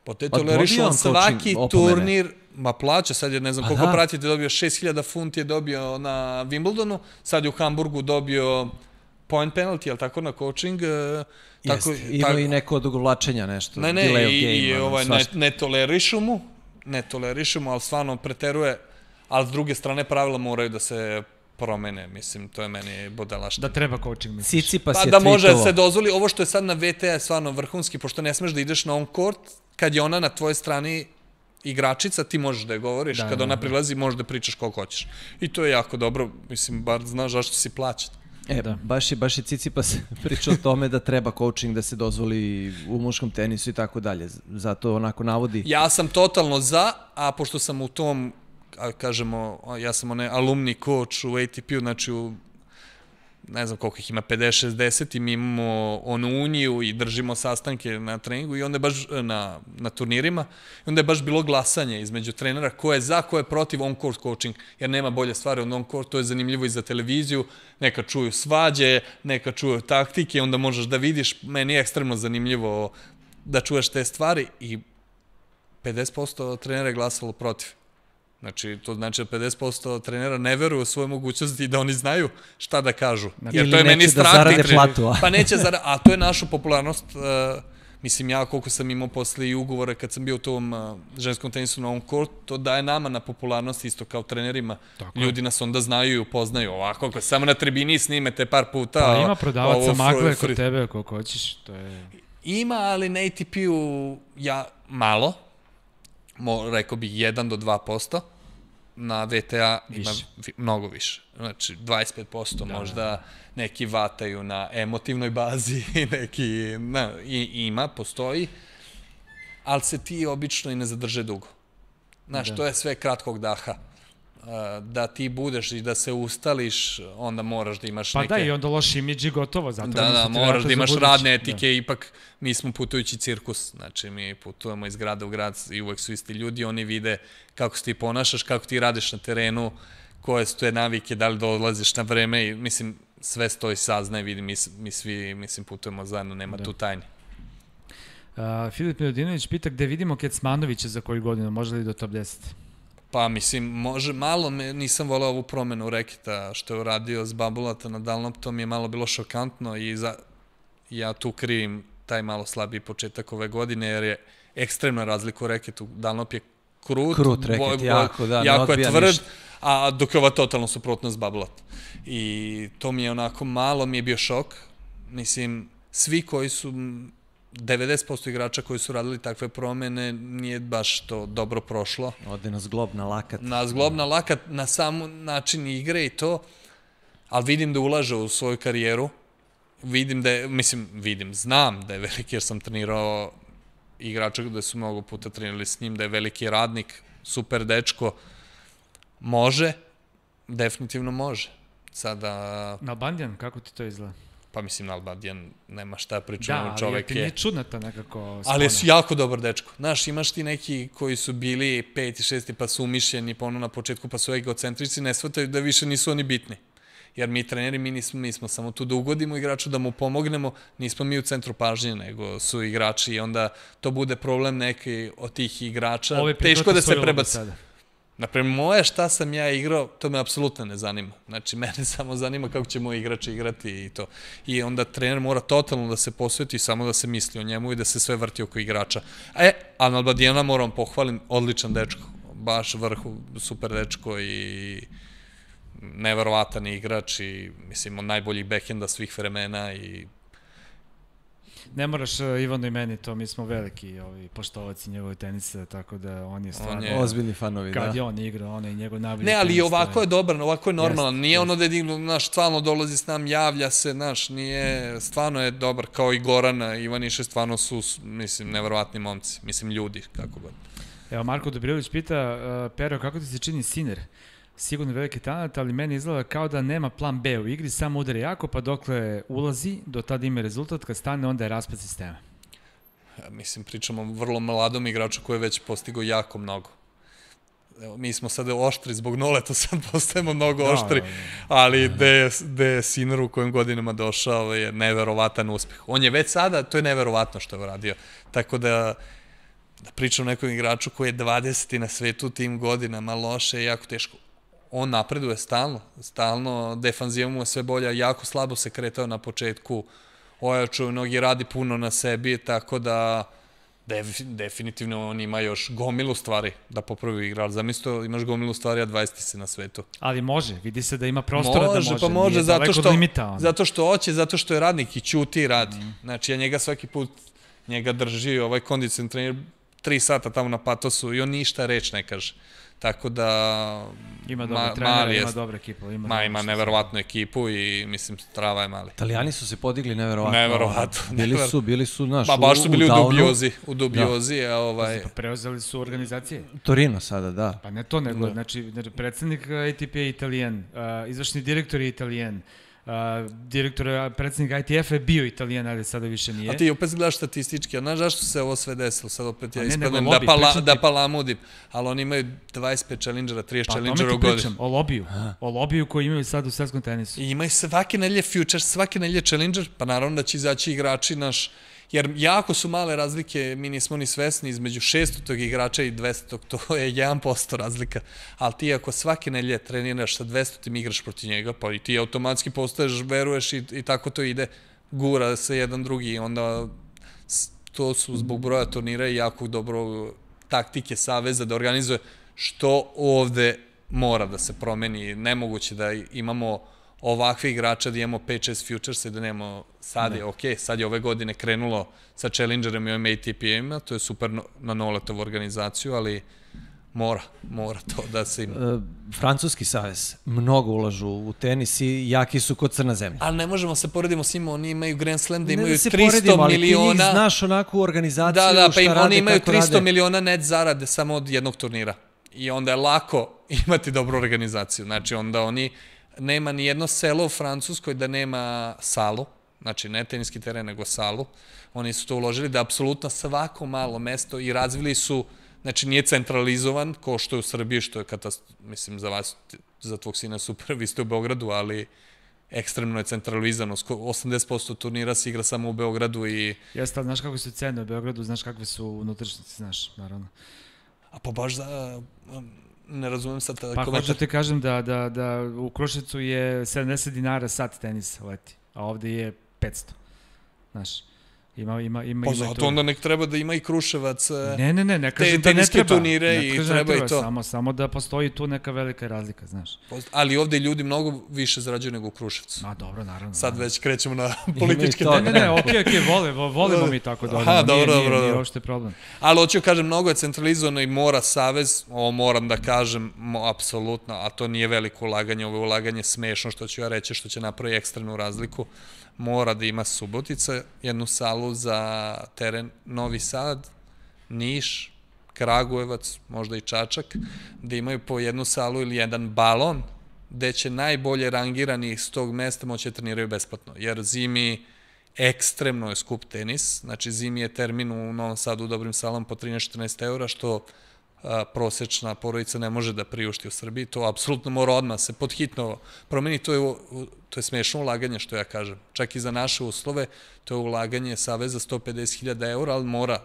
Po te tolerišu on svaki turnir, ma plaća, sad je ne znam koliko pratite, dobio šest hiljada funti je dobio na Wimbledonu, sad je u Hamburgu dobio point penalty, ali tako na coaching. Jeste, ima i neko odugovlačenja nešto. Ne, ne, i ne tolerišu mu, ne tolerišu mu, ali stvarno preteruje, ali s druge strane pravila moraju da se promene, mislim, to je meni budalaština. Da treba coaching, misliš? Cicipas je tweetovo. Pa da može se dozvoli, ovo što je sad na V T A je stvarno vrhunski, pošto ne smeš da ideš na on court, kad je ona na tvojoj strani igračica, ti možeš da je govoriš, kad ona prilazi možeš da pričaš koliko hoćeš. I to je jako dobro, mislim, bar znaš zašto si plaćat. E, baš je, baš je Cicipas pričao o tome da treba coaching da se dozvoli u muškom tenisu i tako dalje, zato onako navodi. Ja sam totalno za, a pošto sam u tom, kažemo, ja sam onaj alumni coach u A T P-u, znači u ne znam koliko ih ima, pedeset šezdeset i mi imamo onu uniju i držimo sastanke na treningu i onda je baš na, na turnirima i onda je baš bilo glasanje između trenera ko je za, ko je protiv on-court coaching, jer nema bolje stvari od on-court, to je zanimljivo i za televiziju, neka čuju svađe, neka čuju taktike, onda možeš da vidiš, meni je ekstremno zanimljivo da čuješ te stvari i pedeset posto trenera je glasalo protiv. Znači, to znači da pedeset posto trenera ne veruju u svoje mogućnosti i da oni znaju šta da kažu. Jer to je meni strah. Ili neće da zarade platu. Pa neće zarade, a to je našu popularnost. Mislim, ja koliko sam imao posle i ugovore kad sam bio u tom ženskom tenisu na on court, to daje nama na popularnosti isto kao trenerima. Ljudi nas onda znaju i upoznaju. Ovako, ako samo na tribini snimete par puta... Pa ima prodavaca magle kod tebe koliko hoćeš. Ima, ali na A T P-u ja malo. Rekao bih jedan do dva posto, na V T A ima mnogo više. Znači, dvadeset pet posto možda neki vataju na emotivnoj bazi, neki ima, postoji, ali se ti obično i ne zadrže dugo. Znaš, to je sve kratkog daha. Da ti budeš i da se ustališ, onda moraš da imaš neke... Pa da, i onda loš imidž i gotovo. Da, da, moraš da imaš radne etike, ipak mi smo putujući cirkus, znači mi putujemo iz grada u grad i uvek su isti ljudi, oni vide kako se ti ponašaš, kako ti radiš na terenu, koje su te navike, da li dolaziš na vreme i mislim, sve stoji saznaje, vidi, mi svi, mislim, putujemo zajedno, nema tu tajni. Filip Milodinović pita gde vidimo Kecmanovića za koju godinu, može li do top deset? Pa, mislim, može malo, nisam voleo ovu promenu reketa što je uradio s Babulata na Dalnop, to mi je malo bilo šokantno i ja tu krivim taj malo slabiji početak ove godine, jer je ekstremna razlika u reketu. Dunlop je krut, krut reket, jako, da, jako je tvrd, ništa. A dok je ova totalno suprotnost bablat. I to mi je onako, malo mi je bio šok. Mislim, svi koji su, devedeset posto igrača koji su radili takve promene, nije baš to dobro prošlo. Ode na zglob, na lakat. Na zglob, na lakat, na sam način igre i to, ali vidim da ulaže u svoju karijeru. Vidim da je, mislim, vidim, znam da je veliki, jer sam trenirao igrača gde su mnogo puta trenirali s njim, da je veliki radnik, super dečko, može, definitivno može. Sada... Nalbandijan, kako ti to izgleda? Pa mislim, Nalbandijan nema šta pričamo, da, čovek je... Da, ali ti nije čudna ta nekako spona. Ali je jako dobar dečko. Znaš, imaš ti neki koji su bili peti, šesti, pa su umišljeni, pa ono na početku, pa su egocentrici, ne shvataju da više nisu oni bitni. Jer mi treneri, mi nismo, mi smo samo tu da ugodimo igraču, da mu pomognemo, nismo mi u centru pažnje, nego su igrači i onda to bude problem neki od tih igrača. Ove teško da se prebaci. Naprema, moje šta sam ja igrao, to me apsolutno ne zanima. Znači, mene samo zanima kako će moj igrač igrati i to. I onda trener mora totalno da se posveti, samo da se misli o njemu i da se sve vrti oko igrača. E, a Nalbandijana moram pohvalim, odličan dečko, baš vrhu, super dečko i neverovatan igrač i, mislim, od najboljih backhenda svih vremena i... Ne moraš Ivano i meni to, mi smo veliki ovi, poštovaci njegove tenisa, tako da on je stvarno... On je... Ozbiljni fanovi, kad da. Kad je on igrao, on je njegov najbolji tenis. Ne, ali tenis, ovako je dobar, ovako je normalan. Jest, nije jest. ono da je, znaš, stvarno dolazi s nam, javlja se, znaš, nije... Stvarno je dobar, kao i Gorana, Ivaniše, stvarno su, mislim, neverovatni momci. Mislim, ljudi, kako god. Evo, Marko Dobrilović pita, uh, Pero, kako ti se čini Sinner? Sigurno veliki talent, ali meni izgleda kao da nema plan B u igri, samo udari jako, pa dokle ulazi, do tada ima rezultat, kad stane, onda je raspad sistema. Ja, mislim, pričamo o vrlo mladom igraču koji je već postigao jako mnogo. Evo, mi smo sada oštri zbog Noleta, sad postajemo mnogo da, oštri, da, da. ali gde je Sinner u kojim godinama došao je neverovatan uspeh. On je već sada, to je neverovatno što je uradio. Tako da, da pričam o nekom igraču koji je dvadeseti na svetu tim godinama, loše je jako teško. On napreduje stalno, stalno, defanziva mu je sve bolja, jako slabo se kretao na početku, ojačuje mnogi, radi puno na sebi, tako da definitivno on ima još gomilu stvari da popravi igrač. Zamislite, imaš gomilu stvari, a dvadeseti si na svetu. Ali može, vidi se da ima prostora može, da može, pa može, nije zato daleko što, od limita. On. Zato što hoće, zato što je radnik i ćuti i radi. Mm. Znači, ja njega svaki put, njega drži ovaj kondicion trener tri sata tamo na patosu i on ništa reč ne kaže. Tako da... Ima dobra trenera, ima dobra ekipa. Ima, ma, ima neverovatnu ekipu i, mislim, strava je mali. Italijani su se podigli neverovatno. Neverovatno. Bili su, bili su, znaš, ba, baš su bili u, u dubiozi. U dubiozi, da. A ovaj... Pa preuzeli su organizacije. Torino sada, da. Pa ne to, nego, da. Znači, predsednik A T P je Italijan, uh, izvršni direktor je Italijan, Uh, direktor, predsednik I T F je bio Italijan, ali sada više nije. A ti opet gledaš statistički, a znaš zašto se ovo sve desilo? Sad opet ja ne, ispadnem lobby, da, pala, ti... da palamudim, ali oni imaju dvadeset pet challengera, trideset pa, challengera u godinu. Pa godinu. o lobiju, o lobiju koji imaju sad u svetskom tenisu. I imaju svake nedelje futures, svake nedelje challenger, pa naravno da će izaći igrači naš, jer jako su male razlike, mi nismo ni svesni, između šestog igrača i dvestog, to je jedan posto razlika, ali ti ako svake nedelje treniraš sa dvestotim igraš protiv njega, pa i ti automatski postaješ, veruješ i, i tako to ide, gura se jedan drugi i onda to su zbog broja turnira i jako dobro taktike saveza da organizuje, što ovde mora da se promeni, nemoguće da imamo ovakve igrača, da imamo pet šest futuresa i da nemamo, sad je, ok, sad je ove godine krenulo sa Challengerem i ovim A T P-ima, to je super na Noletovu organizaciju, ali mora, mora to da se ima. E, Francuski savez, mnogo ulažu u tenis i jaki su kod crna zemlja. Ali ne možemo se poredimo s njima, oni imaju Grand Slam da imaju ne da tristo poredimo, miliona... Ali ti njih znaš onako u organizaciju, da, da, pa im, rade, oni imaju tristo rade. miliona net zarade samo od jednog turnira. I onda je lako imati dobru organizaciju. Znači, onda oni... Nema ni jedno selo u Francuskoj da nema salu, znači ne teniski teren, nego salu. Oni su to uložili da apsolutno svako malo mesto i razvili su, znači nije centralizovan, ko što je u Srbiji, što je katastrofa, mislim za vas, za tvog sina super, vi ste u Beogradu, ali ekstremno je centralizano, osamdeset posto turnira se igra samo u Beogradu i... Jeste, ali znaš kako su cene u Beogradu, znaš kakve su unutrašnjice, znaš, naravno. A pa baš za... Ne razumem sad pa komentar. Pa hoću ti kažem da, da, da u Kruševcu je sedamdeset dinara sat tenisa leti, a ovde je petsto. Znaš, Ima, ima, ima, pa ima zato onda nek treba da ima i Kruševac ne, ne, ne, ne kažem te, da ne treba. turnire ne i kažem treba, ne treba i to. Samo, samo da postoji tu neka velika razlika, znaš. Ali ovde ljudi mnogo više zarađuju nego u Kruševcu. Ma dobro, naravno. Sad naravno. već krećemo na političke to, Ne, ne, ne, okej, okej, vole, volimo mi tako da odemo. Aha, dobro, nije, dobro, nije, dobro. nije uopšte problem. Ali hoću kažem, mnogo je centralizovano i mora Savez, ovo moram da kažem, mo, apsolutno, a to nije veliko ulaganje, ovo je ulaganje smešno, što ću ja reći, što će napravi ekstremnu razliku, mora da ima Subotica, jednu salu za teren Novi Sad, Niš, Kragujevac, možda i Čačak, da imaju po jednu salu ili jedan balon, gde će najbolje rangirani s tog mesta moći da treniraju besplatno, jer zimi ekstremno je skup tenis, znači zimi je termin u Novom Sadu u dobrim salama po trinaest do četrnaest eura, što a, prosečna porodica ne može da priušti u Srbiji, to apsolutno mora odmah se podhitno promeni, to je, to je smešno ulaganje, što ja kažem. Čak i za naše uslove, to je ulaganje Saveza sto pedeset hiljada eura, ali mora.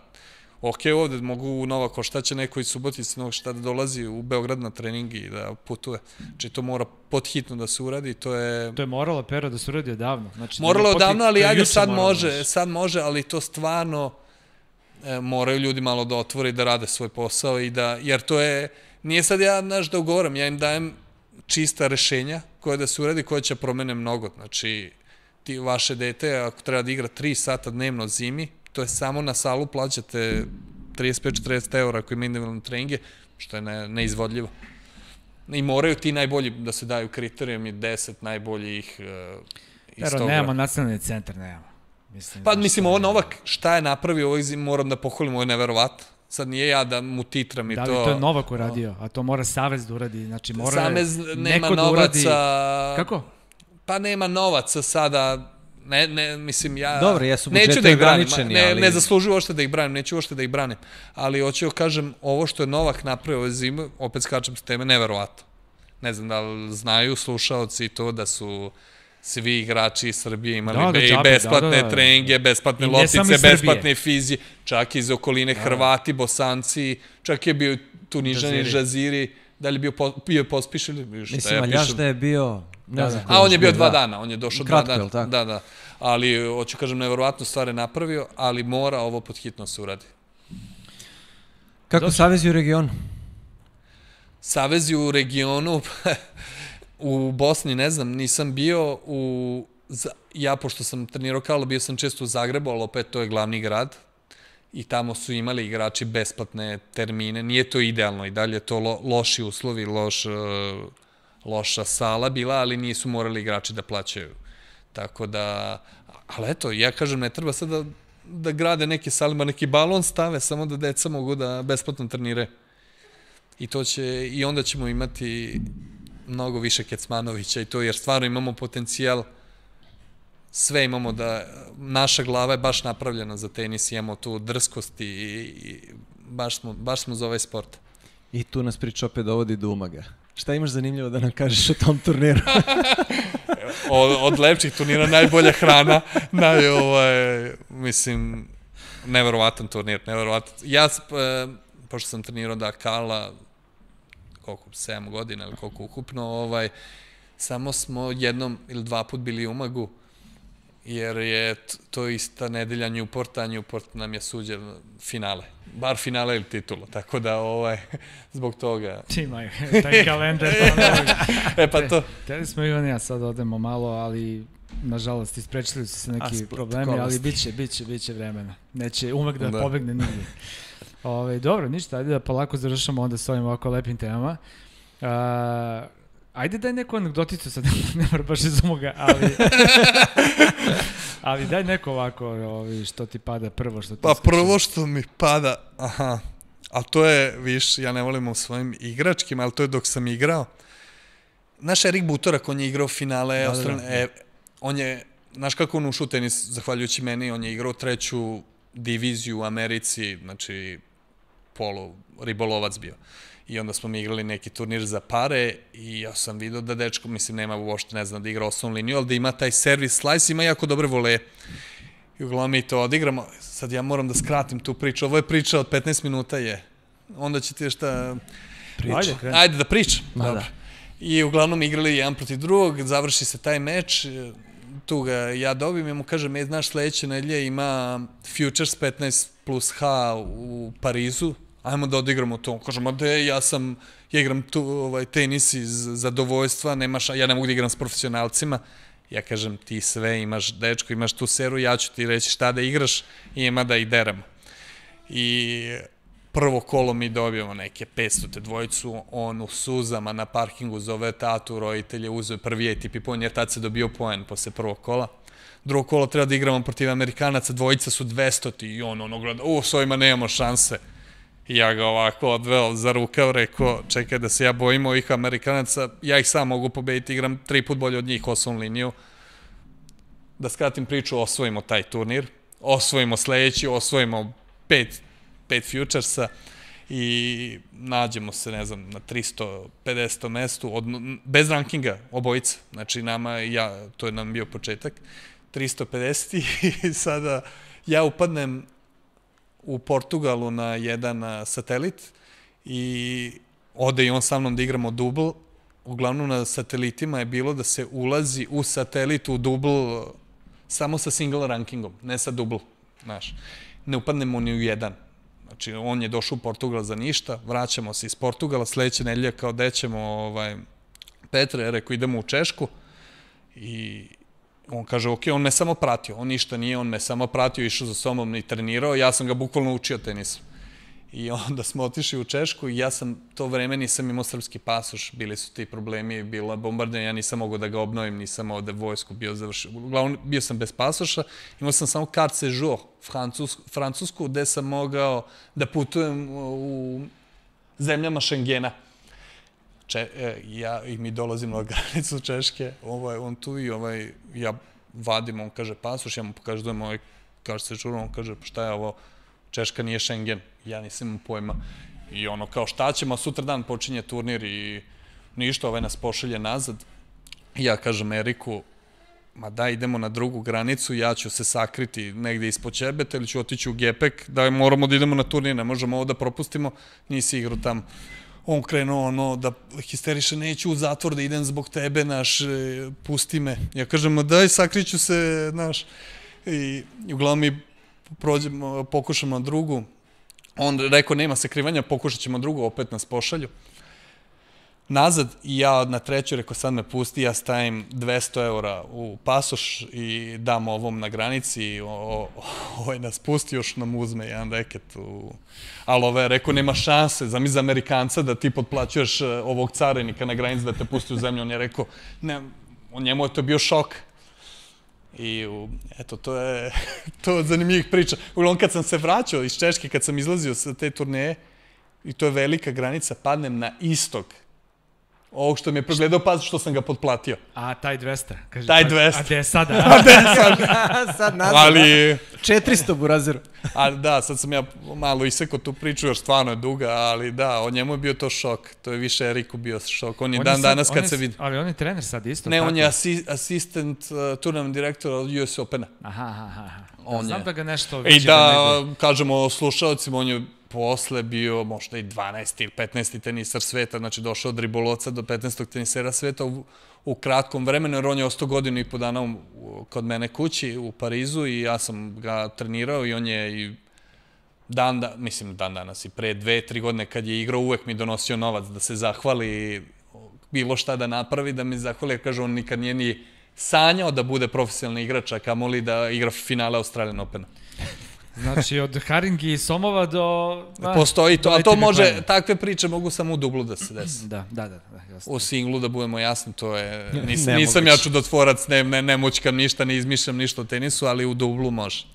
Ok, ovde mogu u Nova Koštaća neko iz Subotice, Novog šta da dolazi u Beograd na trening i da putuje. Znači to mora podhitno da se uradi, to je... To je moralo Pero da se uradi odavno. Znači, moralo je odavno, ali ajde sad može, znaš. sad može, ali to stvarno e, moraju ljudi malo da otvore i da rade svoj posao i da, jer to je, nije sad ja, znaš, da ugovoram, ja im dajem čista rešenja koje da se uradi, koje će promene mnogo. Znači, ti vaše dete, ako treba da igra tri sata dnevno zimi, to je samo na salu plaćate trideset pet do četrdeset eura ako ima individualne treninge, što je ne, neizvodljivo. I moraju ti najbolji da se daju kriterijumi, deset najboljih uh, iz Pero, toga. nemamo nacionalni centar, nemamo. Mislim, Pa mislim, ovo Novak, šta je napravio ovih zim, moram da pohvalim, ovo je neverovatno. Sad nije ja da mu titram i to... Da li to je Novak uradio, a to mora Savez da uradi, znači mora Savez nema neko da novaca... uradi... Kako? Pa nema novaca sada... Ne, ne, mislim, ja... Dobro, jesu neću budžeti da ih branim, ograničeni, ne, ali... ne zaslužuju ošte da ih branim, neću ošte da ih branim. Ali hoću kažem, ovo što je Novak napravio ove zime, opet skačem s teme, neverovatno. Ne znam da li znaju slušaoci to da su svi igrači iz Srbije imali Da, da, be- džabe, besplatne da, da, da. treninge, besplatne I ne samo loptice, iz Srbije. besplatne fizije, čak iz okoline Hrvati, Bosanci, čak je bio Tunižani, Žaziri. Žaziri, da li je bio, po, bio Pospiš ili šta Mislim, ja Aljaš pišem? da je bio... Ne znam A on je bio dva da. dana, on je došao Kratko, dva dana. jel tako? Da, da. Ali, hoću kažem, neverovatno stvar je napravio, ali mora ovo podhitno se uradi. Kako Savezi u regionu? Savezi u regionu, u Bosni, ne znam, nisam bio u... Ja, pošto sam trenirao Karlo, bio sam često u Zagrebu, ali opet to je glavni grad. I tamo su imali igrači besplatne termine. Nije to idealno i dalje je to lo, loši uslovi, loš, loša sala bila, ali nisu morali igrači da plaćaju. Tako da, ali eto, ja kažem, ne treba sad da, da grade neke salima, neki balon stave, samo da deca mogu da besplatno trenire. I to će, i onda ćemo imati mnogo više Kecmanovića i to, jer stvarno imamo potencijal, sve imamo da, naša glava je baš napravljena za tenis, imamo tu drskost i, i baš, smo, baš smo za ovaj sport. I tu nas priča opet dovodi do Umaga. Šta imaš zanimljivo da nam kažeš o tom turniru? od, od lepših turnira najbolja hrana, naj, ovaj, mislim, neverovatan turnir, neverovatan. Ja, e, pošto sam trenirao da Kala, koliko, sedam godina ili koliko ukupno, ovaj, samo smo jednom ili dva put bili u Umagu, jer je to ista nedelja Newporta, Newport nam je suđen finale. Bar finale ili titula, tako da ovaj, zbog toga... Imaju, taj kalendar. e pa to... Teli smo i on ja sad odemo malo, ali nažalost isprečili su se neki Asport, problemi, kolosti. ali biće, biće, biće vremena. Neće umak da, Da. pobegne nigdje. Ove, dobro, ništa, ajde da polako završamo onda s ovim ovako lepim temama. Uh, ajde daj neku anegdoticu, sad ne mora baš iz umoga, ali... ali daj neko ovako, ovi, što ti pada prvo, što ti Pa iskače. prvo što mi pada, aha, a to je, viš, ja ne volim u svojim igračkim, ali to je dok sam igrao. Znaš, Erik Butorak, on je igrao finale, Da, da, Austral... da. E, on je, znaš kako on ušao u tenis, zahvaljujući meni, on je igrao treću diviziju u Americi, znači polu ribolovac bio. I onda smo mi igrali neki turnir za pare i ja sam vidio da dečko, mislim, nema uopšte, ne znam, da igra osnovnu liniju, ali da ima taj servis slice, ima jako dobre voleje. I uglavnom mi to odigramo. Sad ja moram da skratim tu priču. Ovo je priča od petnaest minuta je. Onda će ti šta... Ajde, kreni. Ajde da pričam. Ma Dobro. da. I uglavnom igrali jedan protiv drugog, završi se taj meč, tu ga ja dobijem i mu kažem, e, znaš, sledeće nedelje ima Futures petnaest plus H u Parizu, ajmo da odigramo to. Kažem, a de, ja sam, ja igram tu, ovaj, tenis iz zadovoljstva, nemaš, ja ne mogu da igram s profesionalcima. Ja kažem, ti sve imaš, dečko, imaš tu seru, ja ću ti reći šta da igraš i ima da i deramo. I prvo kolo mi dobijemo neke petsto te dvojicu, on u suzama na parkingu zove tatu, roditelje, uzeo prvi A T P poen, jer tad se dobio poen posle prvog kola. Drugo kolo treba da igramo protiv Amerikanaca, dvojica su dvesta i on ono gleda, u, s ovima nemamo šanse. I ja ga ovako odveo za rukav, rekao, čekaj da se ja bojim ovih Amerikanaca, ja ih sam mogu pobediti, igram tri put bolje od njih, osnovnu liniju. Da skratim priču, osvojimo taj turnir, osvojimo sledeći, osvojimo pet, pet Futuresa i nađemo se, ne znam, na tristo pedesetom mestu, od, bez rankinga, obojica. Znači, nama, ja, to je nam bio početak, tristo pedeset i sada ja upadnem u Portugalu na jedan satelit i ode i on sa mnom da igramo dubl. Uglavnom na satelitima je bilo da se ulazi u satelit u dubl samo sa single rankingom, ne sa dubl, znaš. Ne upadnemo ni u jedan. Znači, on je došao u Portugal za ništa, vraćamo se iz Portugala, sledeće nedelje kao dećemo ovaj, Petre, rekao idemo u Češku i on kaže, ok, on me samo pratio, on ništa nije, on me samo pratio, išao za sobom i trenirao, ja sam ga bukvalno učio tenisu. I onda smo otišli u Češku i ja sam to vreme nisam imao srpski pasoš, bili su ti problemi, bila bombardanja, ja nisam mogao da ga obnovim, nisam ovde vojsku bio završio. Uglavnom, bio sam bez pasoša, imao sam samo carte séjour, francusku, gde sam mogao da putujem u zemljama Šengena. Če, e, ja, i mi dolazimo na granicu Češke, ovaj, on tu i ovaj, ja vadim, on kaže pasoš, ja mu pokažujem ovaj carte séjour, on kaže, pa šta je ovo, Češka nije Schengen, ja nisam imao pojma. I ono, kao šta ćemo, sutra dan počinje turnir i ništa, ovaj nas pošalje nazad. I ja kažem Eriku, ma da, idemo na drugu granicu, ja ću se sakriti negde ispod Ćebeta ili ću otići u Gepek, da moramo da idemo na turnir, ne možemo ovo da propustimo, nisi igrao tamo. On krenuo ono da histeriše, neću u zatvor da idem zbog tebe, naš, pusti me. Ja kažem, ma daj, sakriću se, naš. I uglavnom mi prođemo, pokušamo drugu. On rekao, nema sakrivanja, pokušat ćemo drugu, opet nas pošalju. Nazad i ja na treću rekao, sad me pusti, ja stavim dvesta eura u pasoš i dam ovom na granici, ovaj nas pusti, još nam uzme jedan reket. Ali ovaj rekao, nema šanse, zamisli za Amerikanca da ti potplaćuješ ovog carinika na granici da te pusti u zemlju. On je rekao, ne, njemu je to bio šok. I eto, to je to od zanimljivih priča. Uglavnom, kad sam se vraćao iz Češke, kad sam izlazio sa te turneje, i to je velika granica, padnem na istok. Ovog što mi je pregledao pas, što sam ga potplatio. A, taj dvesta. Kaže, taj dvesta. A gde je sada? A gde je sada? Sad nazad, ali, četiristo burazeru. A da, sad sam ja malo isekao tu priču, još stvarno je duga, ali da, o njemu je bio to šok. To je više Eriku bio šok. On je on dan sad, danas kad se vidi. Ali on je trener sad isto. Ne, tako? on je asi, asistent uh, turnament direktora od U S Opena. Aha, aha, aha. On znam je. da ga nešto... I da, nego... kažemo slušalcima, on je posle bio možda i dvanaesti ili petnaesti tenisar sveta, znači došao od ribolovca do petnaestog tenisera sveta u, u kratkom vremenu, jer on je ostao godinu i po dana u, kod mene kući u Parizu i ja sam ga trenirao i on je i dan, da, mislim dan danas i pre dve, tri godine kad je igrao uvek mi donosio novac da se zahvali, bilo šta da napravi, da mi zahvali, jer kaže on nikad nije ni sanjao da bude profesionalni igrač, a kamoli da igra finale Australian Opena. Znači, od Haringi i Somova do... A, postoji to, do a to može, plana. Takve priče mogu samo u dublu da se desi. Da, da, da. da jasno. U singlu, da budemo jasni, to je... Nis, nisam ja čudotvorac, ne, ne, ne moćkam ništa, ne izmišljam ništa o tenisu, ali u dublu može.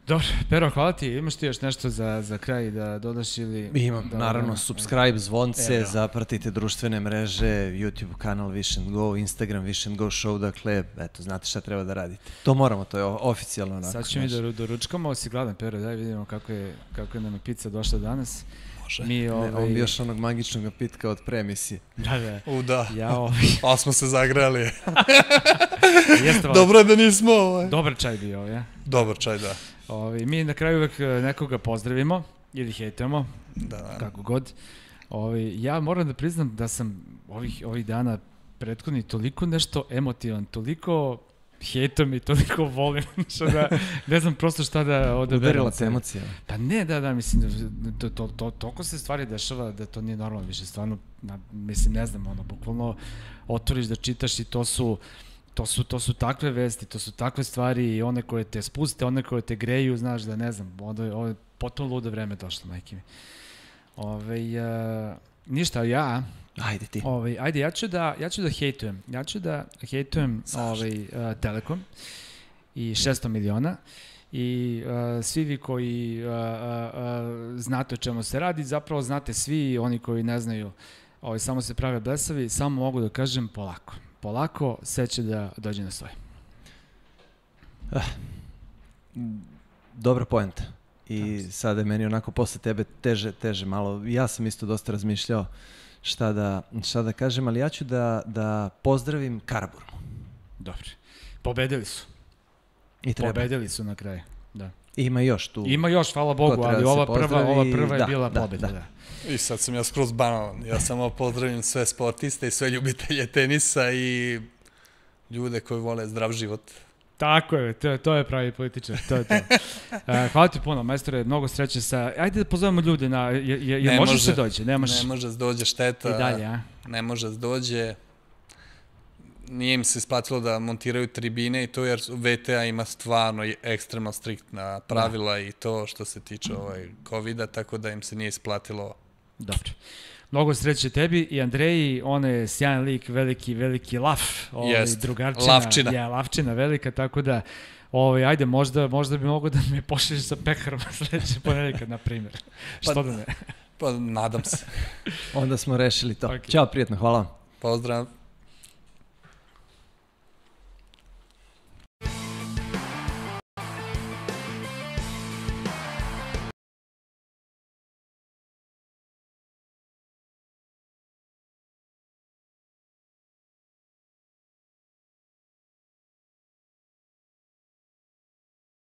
Dobro, Pero, hvala ti. Imaš ti još nešto za, za kraj da dodaš ili... Imam, da, naravno, da, subscribe, zvonce, Evo. zapratite društvene mreže, YouTube kanal Wish and Go, Instagram Wish and Go Show, dakle, eto, znate šta treba da radite. To moramo, to je oficijalno onako. Sad ćemo mi da doručkamo, si gladan, Pero, daj vidimo kako je, kako je nam je pizza došla danas. Može. Mi, ovaj... Ne, on bi još onog magičnog napitka od premisije. Da, da. U, da. Ja, ovaj... A smo se zagrali. Jeste, Dobro je da nismo, ovaj. Dobar čaj bio, ja? Dobar čaj, da. Ovi, mi na kraju uvek nekoga pozdravimo ili hejtujemo, Da, da. kako god. Ovi, ja moram da priznam da sam ovih, ovih dana prethodni toliko nešto emotivan, toliko hejtom i toliko volim, što da, ne znam prosto šta da odaberem. Udarila te emocija. Pa ne, da, da, mislim, to, to, to, toliko se stvari dešava da to nije normalno više, stvarno, na, mislim, ne znam, ono, bukvalno otvoriš da čitaš i to su, to su, to su takve vesti, to su takve stvari i one koje te spuste, one koje te greju, znaš, da ne znam, ovo je, ovo je potpuno ludo vreme došlo, majke mi. Ove, uh, ništa, ja... Ajde ti. Ovaj, ajde, ja ću da, ja ću da hejtujem. Ja ću da hejtujem ovaj, uh, Telekom i šesto miliona i uh, svi vi koji uh, uh, uh, znate o čemu se radi, zapravo znate svi, oni koji ne znaju, ovaj, samo se prave blesavi, samo mogu da kažem polako. Polako, sve će da dođe na svoje. Ah, dobra poenta. I sada je meni onako posle tebe teže, teže malo. Ja sam isto dosta razmišljao šta da, šta da kažem, ali ja ću da, da pozdravim Karaburmu. Dobro. Pobedili su. I treba. Pobedili su na kraju. Da. Ima još tu. Ima još, hvala Bogu, ali ova prva, ova prva je da, bila da, pobeda. Da. Da. I sad sam ja skroz banalan. Ja samo pozdravim sve sportiste i sve ljubitelje tenisa i ljude koji vole zdrav život. Tako je, to, to je pravi političar, to je to. Uh, hvala ti puno, majstore, mnogo sreće sa... Ajde da pozovemo ljude na... Je, je, je može, može se dođe? Nemaš... Ne može se dođe, šteta. I dalje, a? Ne može se dođe. Nije im se isplatilo da montiraju tribine i to jer V T A ima stvarno ekstremno striktna pravila da. I to što se tiče ovaj kovida, tako da im se nije isplatilo. Dobro. Mnogo sreće tebi i Andreji, on je sjajan lik, veliki, veliki laf, ovaj, drugarčina. Lavčina. Ja, lavčina velika, tako da, ovaj, ajde, možda, možda bi mogo da me pošliš sa pekarom sledeće ponedeljka, na primjer. Pa, što da ne? Pa, nadam se. Onda smo rešili to. Okay. Ćao, prijetno, hvala vam. Pozdrav.